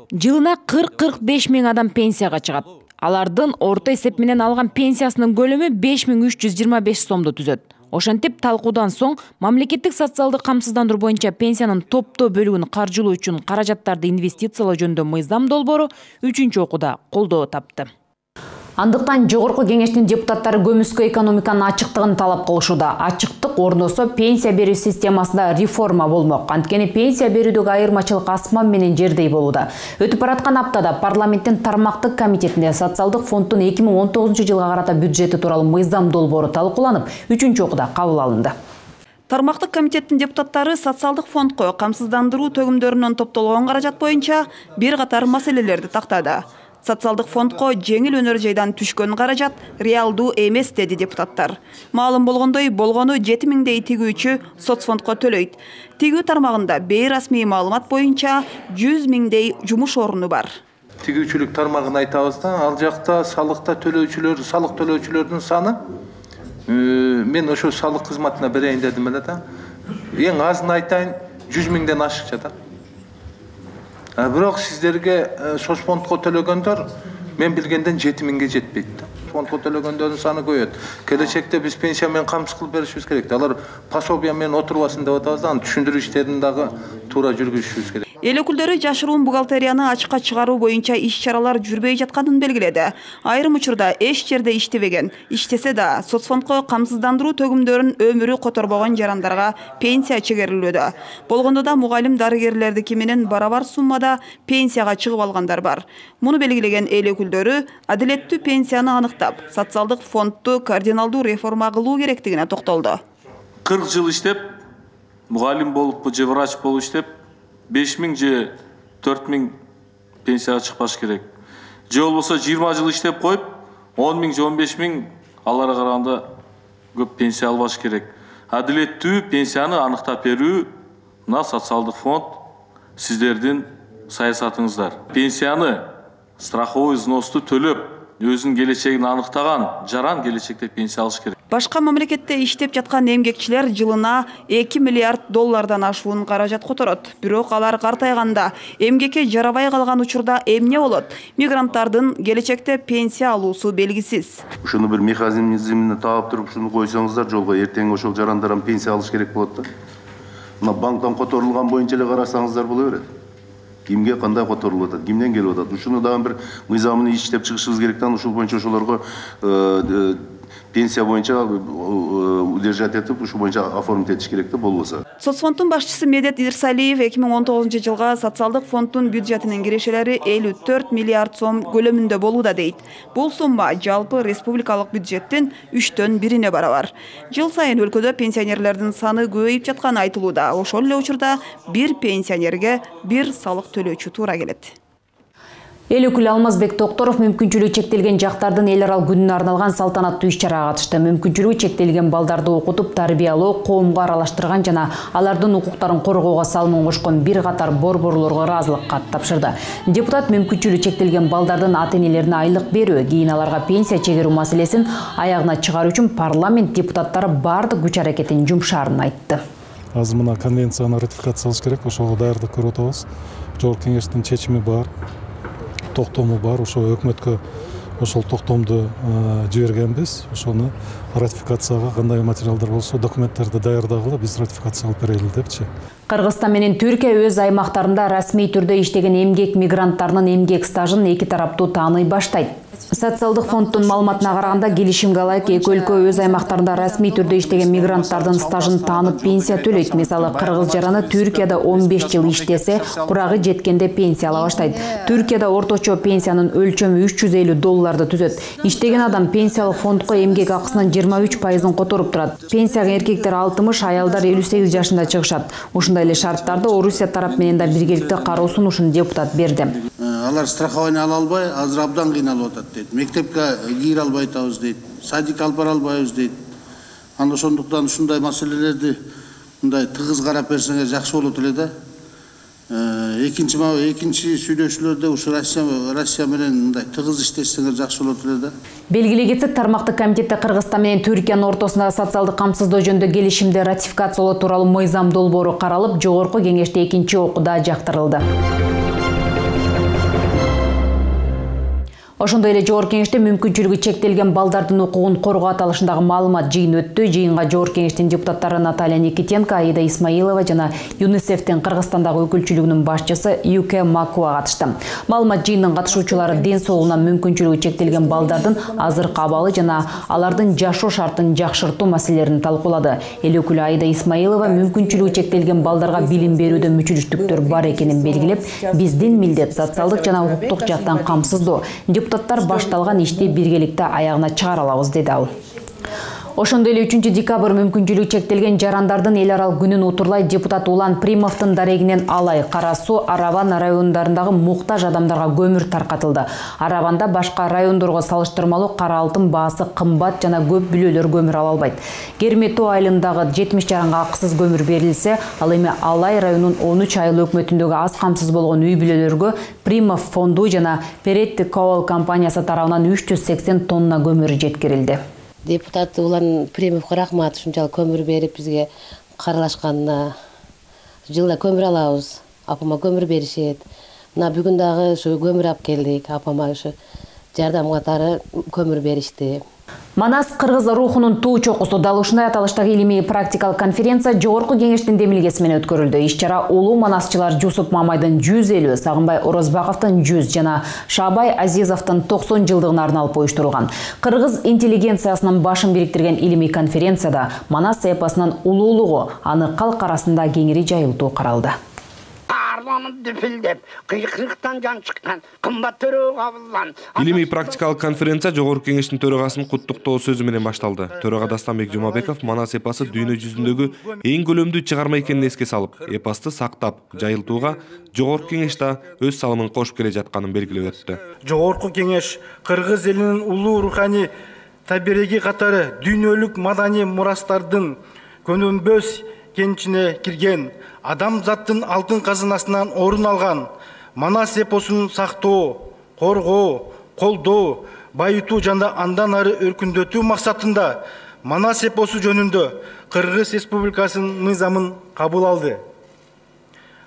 Жылына 40-45 миң адам пенсияга чыгат. Алардын орто эсеп менен алган пенсиясынын көлөмү 5325 сомду түзөт. Ошентип талкуудан соң мамлекеттик социалдык камсыздандыруу боюнча пенсиянын топтоо бөлүгүн каржылоо үчүн каражаттарды инвестициялоо жөнүндө мыйзам долбоору 3-чү окууда колдоо тапты. Андыктан жогорку кеңештин депутаттары көмүскө экономиканын ачыктыгын талап кылышууда. Ачыктык орносо пенсия берүү системасында реформа болмок. Анткени пенсия берүүдөгү айырмачылык асман менен жердей болууда. Өтүп бараткан аптада парламенттин тармактык комитетинде социалдык фонддун 2019 жылга карата бюджети тууралуу мыйзам долбоору талкууланып, 3-чү окууда кабыл алынды. Тармактык комитеттин депутаттары социалдык фондко камсыздандыруу төгүмдөрүнөн топтолгон каражат боюнча бир катар маселелерди тактады. Социалдык фондко жеңил өнөр жайдан түшкөн каражат реалдуу эмес деди депутаттар. Маалым болгондой, болгону 7000дей тигүүчү соцфондко төлөйт. Тигүү тармагында бейрасмий маалымат боюнча 100 000дей жумуш орну бар. Тигүүчүлүк тармагын айтабыз да, ал жакта салык төлөөчүлөрдүн саны мен ошо салык кызматына берейин дедим эле да. Эң азын айтайын, 100 000ден ашыкча да. Бирок сиздерге соцфондко төлөгөндөр мен билгенден 7000ге жетпейт да. Фондко төлөгөндөрдүн саны көбөйөт. Келечекте биз пенсия менен камсыз кылып беришибиз керек. Алар пособия менен отурбасын деп атабыз да, аны түшүндүрүү иштерин дагы туура жүргүзүшүбүз керек. Эл өкүлдөрү жашыруун бухгалтерияны ачыкка чыгаруу боюнча иш-чаралар жүрбөй жатканын белгиледи. Айрым учурда эч жерде иштебеген, иштесе да соцфондко камсыздандыруу төгүмдөрүн өмүрү которбогон жарандарга пенсия чегерилүүдө. Болгондо да мугалим дарыгерлердики менен барабар суммада пенсияга чыгып алгандар бар. Муну белгилеген эл өкүлдөрү адилеттүү пенсияны аныктап, социалдык фондду кардиналдуу реформа кылуу керектигине токтолду. 40 жыл иштеп, мугалим болуп же врач болуп иштеп 5000 же 4000 пенсияга чыкпаш керек. Же болбосо 20 жыл иштеп коюп 10 000 же 15 000 аларга караганда көп пенсия албаш керек. Адилеттүү пенсияны аныктап берүү мына социалдык фонд сиздердин саясатыңыздар. Пенсияны страховой взносты төлөп, өзүнүн келечегин аныктаган жаран келечекте пенсия алыш керек. Башка мамлекетте иштеп жаткан эмгекчилер жылына 2 миллиард доллардан ашуун каражат которот. Бирок алар картайганда эмгекке жарабай калган учурда эмне болот? Мигранттардын келечекте пенсия алуусу белгисиз. Ушуну бир механизмине таап туруп, ушуну койсоңуздар жолго, эртең ошол жарандардан пенсия алыш керек болот да. Мына банктан которулган боюнча эле карасаңыздар боло берет. Кимге кандай которулуп атат, кимден келип атат? Ушуну дагы бир мыйзамын иштеп чыгышыбыз керек да, ушул боюнча ошолорго пенсия боюнча удержать этип, ушу боюнча оформить этиш керек да болбосо. Соцфонддун башчысы Медет Ирсалиев 2019 жылга социалдык фонддун бюджетинин кирешелери 54 миллиард сом көлөмүндө болууда дейт. Бул сумма жалпы республикалык бюджеттин 3төн 1-ине барабар. Жыл сайын өлкөдө пенсионерлердин саны көбөйүп жатканы айтылууда. Ошол эле учурда бир пенсионерге бир салык төлөөчү туура келет. Эл өкүлү Алмазбек Токторов мүмкүнчүлүгү чектелген жактардын эл аралык күнүнө арналган салтанаттуу иш-чарага катышты. Мүмкүнчүлүгү чектелген балдарды окутуп, тарбиялоо, коомго аралаштырган жана алардын укуктарын коргоого салымын кошкон бир катар борборлорго ыраазылык кат тапшырды. Депутат мүмкүнчүлүгү чектелген балдардын ата-энелерине айлык берүү, кийин аларга пенсия чегерүү маселесин аягына чыгаруу үчүн парламент депутаттары бардык күч аракетин жумшаарын айтты. Азыр мына конвенцияны ратификациялаш керек, ошого даярдык көрүп атабыз. Жогорку кеңештин чечими бар. Токтому бар, ошо өкмөткө ошол токтомду жибергенбиз. Ошону ратификацияга кандай материалдар болсо, документтерди даярдагыла биз ратификация алып берели депчи. Кыргызстан менен Түркия өз аймактарында расмий түрдө иштеген эмгек мигранттарынын эмгек стажын эки тараптуу тааный баштайт. Социалдык фонддун маалыматына караганда, келишимге ылайык эки өлкө өз аймактарында расмий түрдө иштеген мигранттардын стажын таанып пенсия төлөйт. Мисалы, кыргыз жараны Түркияда 15 жыл иштесе, курагы жеткенде пенсия ала баштайт. Түркияда орточо пенсиянын өлчөмү $350 түзөт. Иштеген адам пенсиялык фондко эмгек акысынын 23%-ын которуп турат. Пенсияга эркектер 60, аялдар 58 жашында чыгышат. Ушундай эле шарттарды Орусия тарап менен да биргеликте кароо сунушун депутат берди. Алар страхование ала албай, азыр абдан кыйналып атат дейт. Мектепке кире албай атабыз дейт. Садик алып бара албайбыз дейт. Анда ошондуктан ушундай маселелерди мындай тыгыз карап берсеңер жакшы болот эле да. Экинчи сүйлөшүүлөрдө ушу Россия менен мындай тыгыз иштесеңер жакшы болот эле да. Белгилей кетсек, тармактык комитетте Кыргызстан менен Түркиянын ортосундагы социалдык камсыздоо жөнүндө келишимди ратификациялоо тууралуу мыйзам долбоору каралып, жогорку кеңеште экинчи окууда жактырылды. Ошондой эле жогорку кеңеште мүмкүнчүлүгү чектелген балдардын укугун коргоо аталышындагы маалымат жыйын өттү. Жыйынга жогорку кеңештин депутаттары Наталья Никитенко, Аида Исмаилова жана ЮНИСЕФтин Кыргызстандагы өкүлчүлүгүнүн башчысы Юке Макуа катышты. Маалымат жыйынынын катышуучулары ден соолугуна мүмкүнчүлүгү чектелген балдардын азыркы абалы жана алардын жашоо шартын жакшыртуу маселелерин талкуулады. Эл өкүлү Аида Исмаилова мүмкүнчүлүгү чектелген балдарга билим берүүдө мүчүлүштүктөр бар экенин белгилеп, биздин милдет социалдык жана укуктук жактан камсыздоо. Депутаттар башталган ишти биргеликте аягына чыгара алабыз, деди ал. Ошондой эле 3 декабрь мүмкүнчүлүгү чектелген жарандардын эл аралык күнүн утурлай депутат Улан Примовдун дарегинен Алай, Кара Суу, Араван райондорундагы муктаж адамдарга көмүр таркатылды. Араванда башка райондорго салыштырмалуу кара алтын баасы кымбат жана көп бүлөлөр көмүр ала албайт. Кермету айылындагы 70 жаранга акысыз көмүр берилсе, ал эми Алай районунун 13 айыл өкмөтүндөгү аз камсыз болгон үй бүлөлөргө Примов фонду жана Перетти Ковал компаниясы тарабынан 380 тонна көмүр жеткирилди. Депутат Улан Примовго рахмат, ушунчалык көмүр берип бизге каралашканына. Жылда көмүр алабыз, апама көмүр беришет. Мына бүгүн дагы ушу көмүр алып келдик, апама ушу жардам катары көмүр беришти. Манас кыргыз рухунун туу чокусу дал ушундай аталыштагы илимий практикалык конференция жогорку кеңештин демилгеси менен өткөрүлдү. Иш-чара улуу манасчылар Жусуп Мамайдын 150, Сагынбай Орозбаковдун 100 жана Шабай Азизовдун 90 жылдыгына арналып уюштурулган. Кыргыз интеллигенциясынын башын бириктирген илимий конференцияда Манас эпосунун улуулугу, аны калк арасында кеңири жайылтуу каралды. Илимий практикалык конференция жогорку кеңештин төрагасынын куттуктоо сөзү менен башталды. Төрага Дастанбек Жумабеков Манас эпосу дүйнө жүзүндөгү эң көлөмдүү чыгарма экенин эске салып, эпосты сактап, жайылтууга жогорку кеңеш да өз салымын кошуп келе жатканын белгилеп өттү. Жогорку кеңеш кыргыз элинин улуу руханий табиреги катары дүйнөлүк маданий мурастардын көнөнбөс кенчине кирген, адам заттын алтын казынасынан орун алган Манас эпосун сактоо, коргоо, колдоо, байытуу жана андан ары өркүндөтүү максатында Манас эпосу жөнүндө Кыргыз Республикасынын мыйзамын кабыл алды.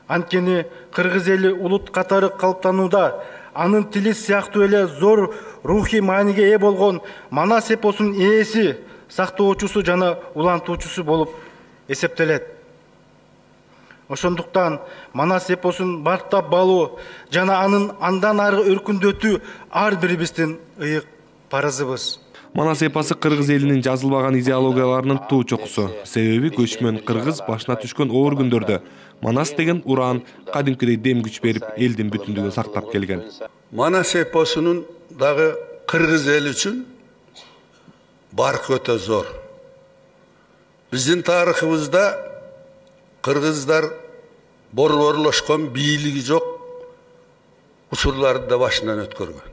Анткени кыргыз эли улут катары калыптанууда, анын тили сыяктуу эле зор рухий мааниге ээ болгон Манас эпосунун ээси, сактоочусу жана улантуучусу болуп эсептелет. Ошондуктан Манас эпосун бартап балуу жана анын андан ары өркүндөтүү ар бирибиздин ыйык парызыбыз. Манас эпосу кыргыз элинин жазылбаган идеологияларынын туу чокусу. Себеби көчмөн кыргыз башына түшкөн оор күндөрдө Манас деген уран кадимкидей дем күч берип, элдин бүтүндүгүн сактап келген. Манас эпосунун дагы кыргыз эл үчүн баркы өтө зор. Биздин тарыхыбызда кыргыздар борборлошкон, бийлиги жок учурларды да башынан өткөргөн.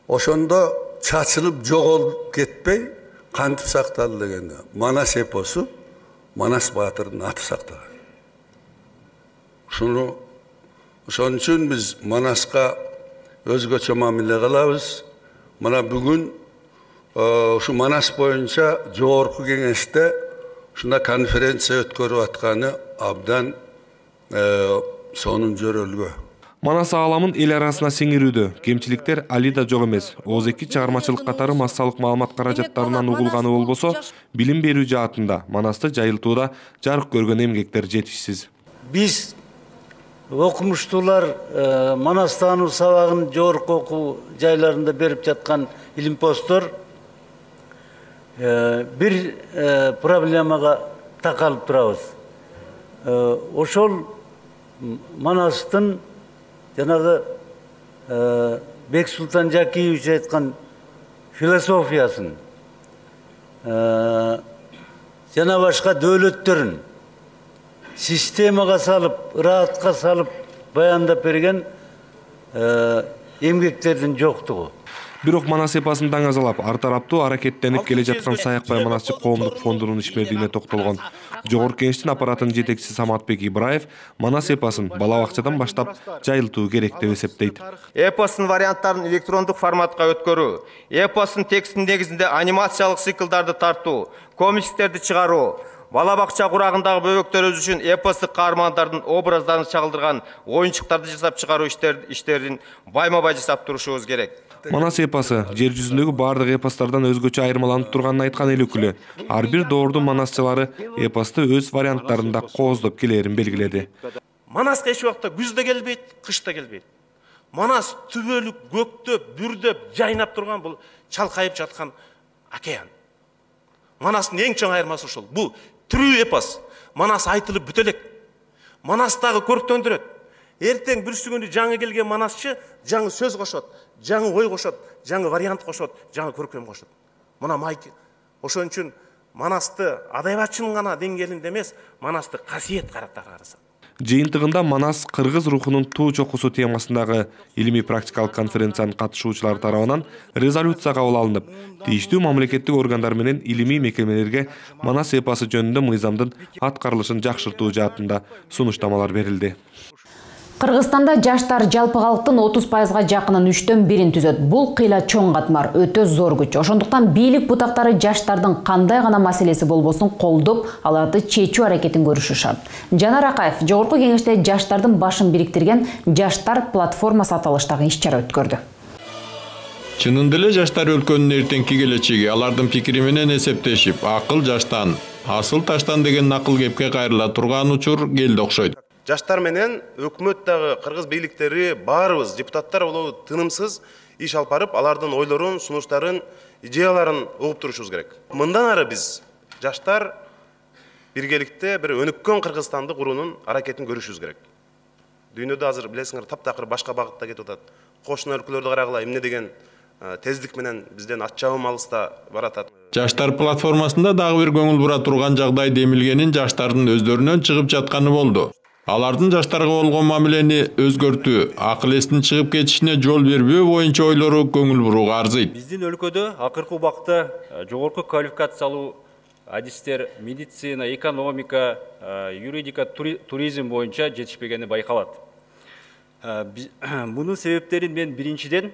Ошондо чачылып жоголуп кетпей кантип сакталды дегенде Манас эпосу Манас баатырдын аты сакталган. Ошон үчүн биз Манаска өзгөчө мамиле кылабыз. Мына бүгүн ушу Манас боюнча жогорку кеңеште ушундай конференция өткөрүп атканы абдан сонун жөрөлгө. Манас ааламын эл арасына сиңирүүдө кемчиликтер али да жок эмес. ОЗЭК чыгармачылык катары массалык маалымат каражаттарынан угулганы болбосо, билим берүү жаатында Манасты жайылтууда жарык көргөн эмгектер жетишсиз. Биз окумуштуулар Манастан сабагын жогорку окуу жайларында берип жаткан илимпоздор бир проблемага такалып турабыз. Ошол Манастын жанагы Бексултан Жакиевич айткан философиясын жана башка дөөлөттөрүн системага салып, ыраатка салып баяндап берген эмгектердин жоктугу. Бирок Манас эпосын даңазалап, ар тараптуу аракеттенип келе жаткан Саякбай Манасчы коомдук фондунун ишмердигине токтолгон Жогорку Кеңештин аппаратынын жетекчиси Саматбек Ибраев Манас эпосын бала бакчадан баштап жайылтуу керек деп эсептейт. Эпостун варианттарын электрондук форматка өткөрүү, эпостун текстин негизинде анимациялык циклдарды тартуу, комикстерди чыгаруу, бала бакча курагындагы бөбөктөр үчүн эпостук каармандардын образдарын чагылдырган оюнчуктарды жасап чыгаруу иштерин байма-бай жасап турушубуз керек. Манас эпосы жер жүзүндөгү бардык эпосттордон өзгөчө айырмаланып турганын айткан эл өкүлү ар бир доордун манасчылары эпосту өз варианттарында кооздоп келээрин белгиледи. Манаска эч убакта күз да келбейт, кыш да келбейт. Манас түбөлүк, көктөп, бүрдөп, жайнап турган бул чалкайып жаткан океан. Манастын эң чоң айырмасы ошол. Бул тирүү эпос. Манас айтылып бүтө элек. Манастагы көрктөндүрөт. Эртең бүрсү күнү жаңы келген манасчы жаңы сөз кошот, жаңы ой кошот, жаңы вариант кошот, жаңы көркөм кошот. Мына майк ошон үчүн Манасты адабиятчынын гана деңгээлинде эмес, Манасты касиет караттар караса. Жыйынтыгында Манас кыргыз рухунун туу чокусу темасындагы илимий практикалык конференциянын катышуучулары тарабынан резолюция кабыл алынып, тийиштүү мамлекеттик органдар менен илимий мекемелерге Манас эпосы жөнүндө мыйзамдын аткарылышын жакшыртуу жаатында сунуштамалар берилди. Кыргызстанда жаштар жалпы калктын 30%га жакынын 3/1 түзөт. Бул кыйла чоң катмар, өтө зор күч. Ошондуктан бийлик бутактары жаштардын кандай гана маселеси болбосун колдоп, аларды чечүү аракетин көрүшү шарт. Жанар Акаев Жогорку Кеңеште жаштардын башын бириктирген Жаштар платформасы аталыштагы иш-чара өткөрдү. Чынында эле жаштар өлкөнүн эртеңки келечеги алардын пикири менен эсептешип, акыл жаштан, асыл таштан деген накыл кепке кайрыла турган учур келди окшойт. Жаштар менен өкмөт дагы, кыргыз бийликтери баарыбыз депутаттар болобу тынымсыз иш алып барып, алардын ойлорун, сунуштарын, идеяларын угуп турушубуз керек. Мындан ары биз жаштар биргеликте бир өнүккөн Кыргызстанды куруунун аракетин көрүшүбүз керек. Дүйнөдө азыр билесиңер таптакыр башка багытта кетип атат. Кошуна өлкөлөрдү карагыла эмне деген тездик менен бизден атчабым алыста баратат. Жаштар платформасында дагы бир көңүл бура турган жагдай демилгенин жаштардын өздөрүнөн чыгып жатканы болду. Алардын жаштарга болгон мамилени өзгөртүү, акыл эстин чыгып кетишине жол бербөө боюнча ойлору көңүл бурууга арзыйт. Биздин өлкөдө акыркы убакта жогорку квалификациялуу адистер медицина, экономика, юридика, туризм боюнча жетишпегени байкалат. Мунун себептерин мен биринчиден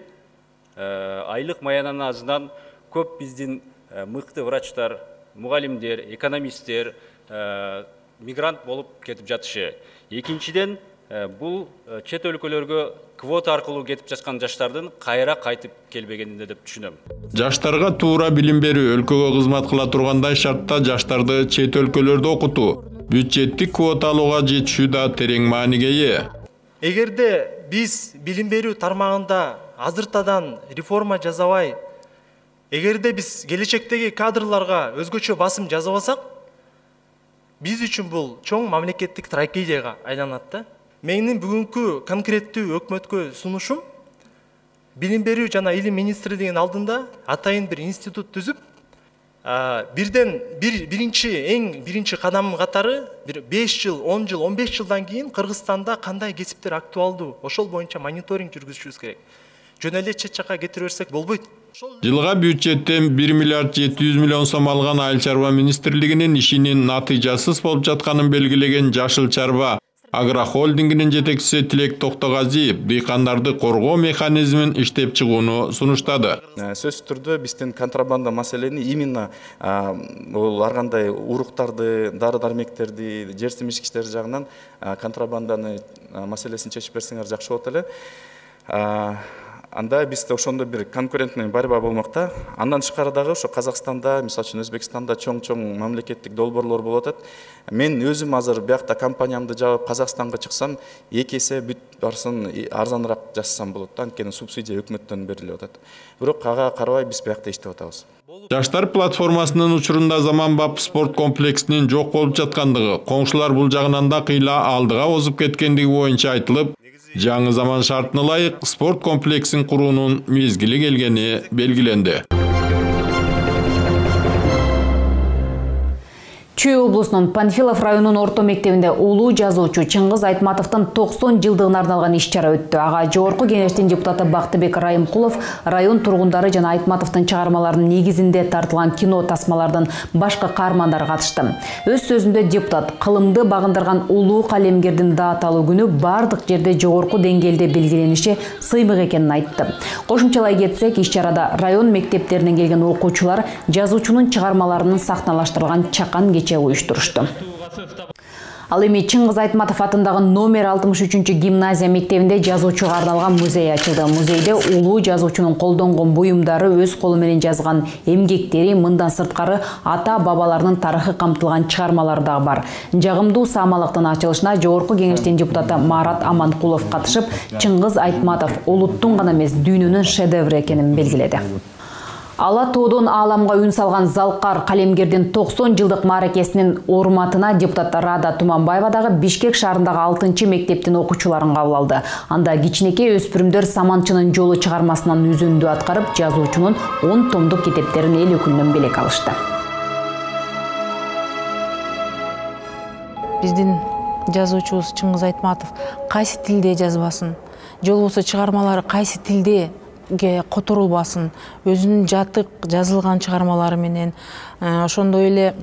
айлык маянанын азынан көп биздин мыкты врачтар, мугалимдер, экономисттер мигрант болуп кетип жатышы. Экинчиден, бул чет өлкөлөргө квота аркылуу кетип жаткан жаштардын кайра кайтып келбегенинде деп түшүнөм. Жаштарга туура билим берүү, өлкөгө кызмат кыла тургандай шартта жаштарды чет өлкөлөрдө окутуу, бюджеттик квота алууга жетишүү да терең мааниге ээ. Эгерде биз билим берүү тармагында азыртадан реформа жасабай, эгерде биз келечектеги кадрларга өзгөчө басым жасабасак, биз үчүн бул чоң мамлекеттик трагедияга айланат да. Менин бүгүнкү конкреттүү өкмөткө сунушум билим берүү жана илим министрлигинин алдында атайын бир институт түзүп, эң биринчи кадам катары бир 5 жыл, 10 жыл, 15 жылдан кийин Кыргызстанда кандай кесиптер актуалдуу, ошол боюнча мониторинг жүргүзүшүбүз керек. Жөн эле чет жакка кетире берсек болбойт. Жылга бюджеттен 1 миллиард 700 миллион сом алган Айыл чарба министрлигинин ишинин натыйжасыз болуп жатканын белгилеген Жашыл чарба Агрохолдингинин жетекчиси Тилек Токтогазиев дыйкандарды коргоо механизмин иштеп чыгууну сунуштады. Сөзсүз түрдө биздин контрабанда маселени именно бул ар кандай уруктарды, дары-дармектерди, жер-жемишкичтер жагынан контрабанданы маселесин чечип берсеңер жакшы болот эле. Анда бизде ошондой бир конкурентный борьба болмокта. Андан тышкары дагы ошо Казакстанда, мисалы үчүн Өзбекстанда чоң мамлекеттик долбоорлор болуп атат. Мен өзүм азыр биякта компаниямды жаап Казакстанга чыксам, 2 эсе бүт барсын арзаныраак жасасам болот да, анткени субсидия өкмөттөн берилип атат. Бирок ага карабай биз биякта иштеп атабыз. Жаштар платформасынын учурунда заманбап спорт комплексинин жок болуп жаткандыгы, коңшулар бул жагынан да кыйла алдыга озуп кеткендиги боюнча айтылып, жаңы заман шартына ылайык спорт комплексин куруунун мезгили келгени белгиленди. Чүй облусунун Панфилов районунун орто мектебинде улуу жазуучу Чыңгыз Айтматовдун 90 жылдыгына арналган иш-чара өттү. Ага жогорку кеңештин депутаты Бактыбек Райымкулов район тургундары жана Айтматовдун чыгармаларынын негизинде тартылган кино тасмалардын башкы каармандары катышты. Өз сөзүндө депутат кылымды багындырган улуу калемгердин дааталуу күнү бардык жерде жогорку деңгээлде белгилениши сыймык экенин айтты. Кошумчалай кетсек, иш-чарада район мектептеринен келген окуучулар жазуучунун чыгармаларынын сахналаштырылган чакан кечи уюштурушту. Ал эми Чыңгыз Айтматов атындагы номер 63 гимназия мектебинде жазуучуга арналган музей ачылды. Музейде улуу жазуучунун колдонгон буюмдары, өз колу менен жазган эмгектери, мындан сырткары ата-бабаларынын тарыхы камтылган чыгармалары дагы бар. Жагымдуу саамалыктын ачылышына жогорку кеңештин депутаты Марат Аманкулов катышып, Чыңгыз Айтматов улуттун гана эмес, дүйнөнүн шедеври экенин белгиледи. Ала тоодон ааламга үн салган залкар калемгердин 90 жылдык мааракесинин урматына депутат Рада Туманбаева дагы Бишкек шаарындагы 6-мектептин окуучуларын кабыл алды. Анда кичинекей өспүрүмдөр Саманчынын жолу чыгармасынан үзүндү аткарып, жазуучунун 10 томдук китептерин эл өкүлүнөн белек алышты. Биздин жазуучубуз Чыңгыз Айтматов кайсы тилде жазбасын, же болбосо чыгармалары кайсы тилде которулбасын, өзүнүн жатык жазылган чыгармалары менен ошондой эле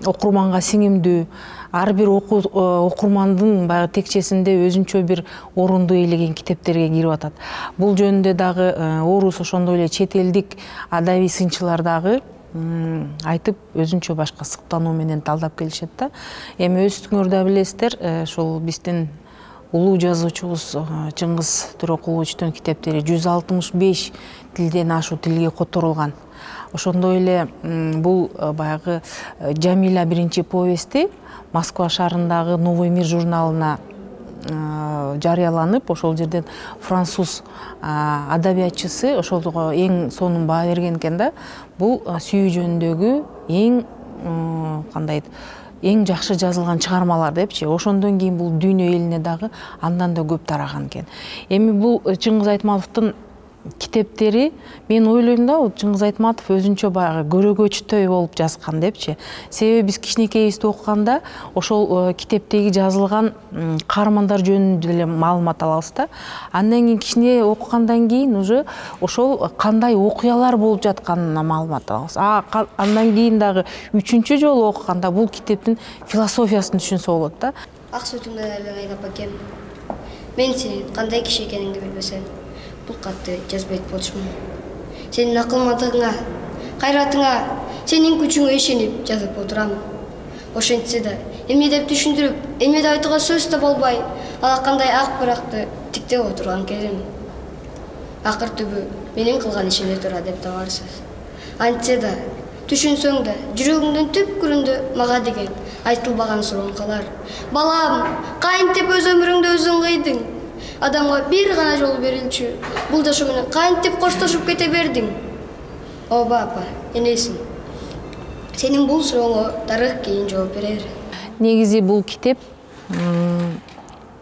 окурманга сиңимдүү, ар бир окурмандын баягы текчесинде өзүнчө бир орунду ээлеген китептерге кирип атат. Бул жөнүндө дагы орус ошондой эле чет элдик адабий сынчылар дагы айтып, өзүнчө башка сыктануу менен талдап келишет да. Эми өзүңөр да билесиздер, ошол биздин улуу жазуучубуз Чыңгыз Төрөкуловичтун китептери 165 тилден ашуу тилге которулган. Ошондой эле бул баягы Жамиля биринчи повести Москва шаарындагы Новый мир журналына жарыяланып, ошол жерден француз адабиятчысы ошолго эң сонун баа берген экен да. Бул сүйүү жөнүндөгү эң жакшы жазылган чыгармалар депчи. Ошондон кийин бул дүйнө элине дагы андан да көп тараган экен. Эми бул Чыңгыз Айтматовдун китептери, мен ойлойм да, Чыңгыз Айтматов өзүнчө баягы көрөгөчтөй болуп жазган депчи. Себеби биз кичинекейибизде окуганда ошол китептеги жазылган каармандар жөнүндө эле маалымат алабыз да. Андан кийин кичине окугандан кийин уже ошол кандай окуялар болуп жатканына маалымат алабыз. Андан кийин дагы 3-чү жолу окуганда бул китептин философиясын түшүнсө болот да. Ак сүтүңдөн айланайын апакем. Мен сенин кандай киши экениңди билбесем, бул катты жазбайт болчумун. Сенин акылмандыгыңа, кайратыңа, сенин күчүңө ишенип жазып отурам. Ошентсе да, эмне деп түшүндүрүп, эмне деп айтууга сөз да болбой, алакандай ак баракты тиктеп отурган кезим. Акыр түбү менин кылган ишиме туура деп табарсыз. Антсе да, түшүнсөң да, жүрөгүңдүн түпкүрүндө мага деген айтылбаган сурооң калар. Балам, кантип өз өмүрүңдү өзүң кыйдың? Адамга бир гана жол берилчү. Бул жашоо менен кантип коштошуп кете бердиң? Оба апа, энесиң. Сенин бул сурооңо тарых кийин жооп берер. Негизи бул китеп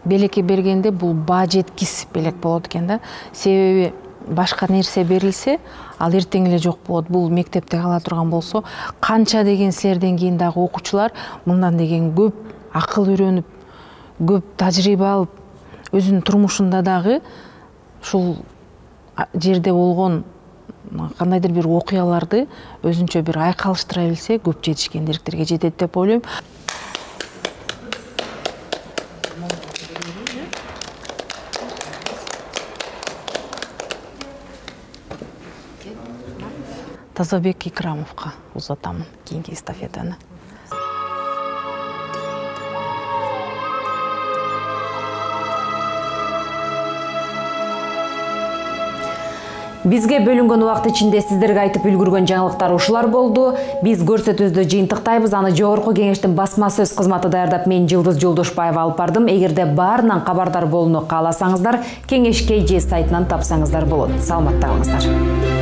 белекке бергенде бул баа жеткис белек болот экен да. Себеби башка нерсе берилсе, ал эртең эле жок болот. Бул мектепте кала турган болсо, канча деген силерден кийин дагы окуучулар мындан деген көп акыл үйрөнүп, көп тажрыйба алып, өзүнүн турмушунда дагы ушул жерде болгон кандайдыр бир окуяларды өзүнчө бир айкалыштыра билсе, көп жетишкендиктерге жетет деп ойлойм. Тазабек Икрамовго узатамын кийинки эстафетаны. Бизге бөлүнгөн убакыт ичинде сиздерге айтып үлгүргөн жаңылыктар ушулар болду. Биз көрсөтүүбүздү жыйынтыктайбыз. Аны жогорку кеңештин басма сөз кызматы даярдап, мен Жылдыз Жолдошбаева алып бардым. Эгерде баарынан кабардар болууну кааласаңыздар, кеңешке же сайтынан тапсаңыздар болот. Саламатта калыңыздар.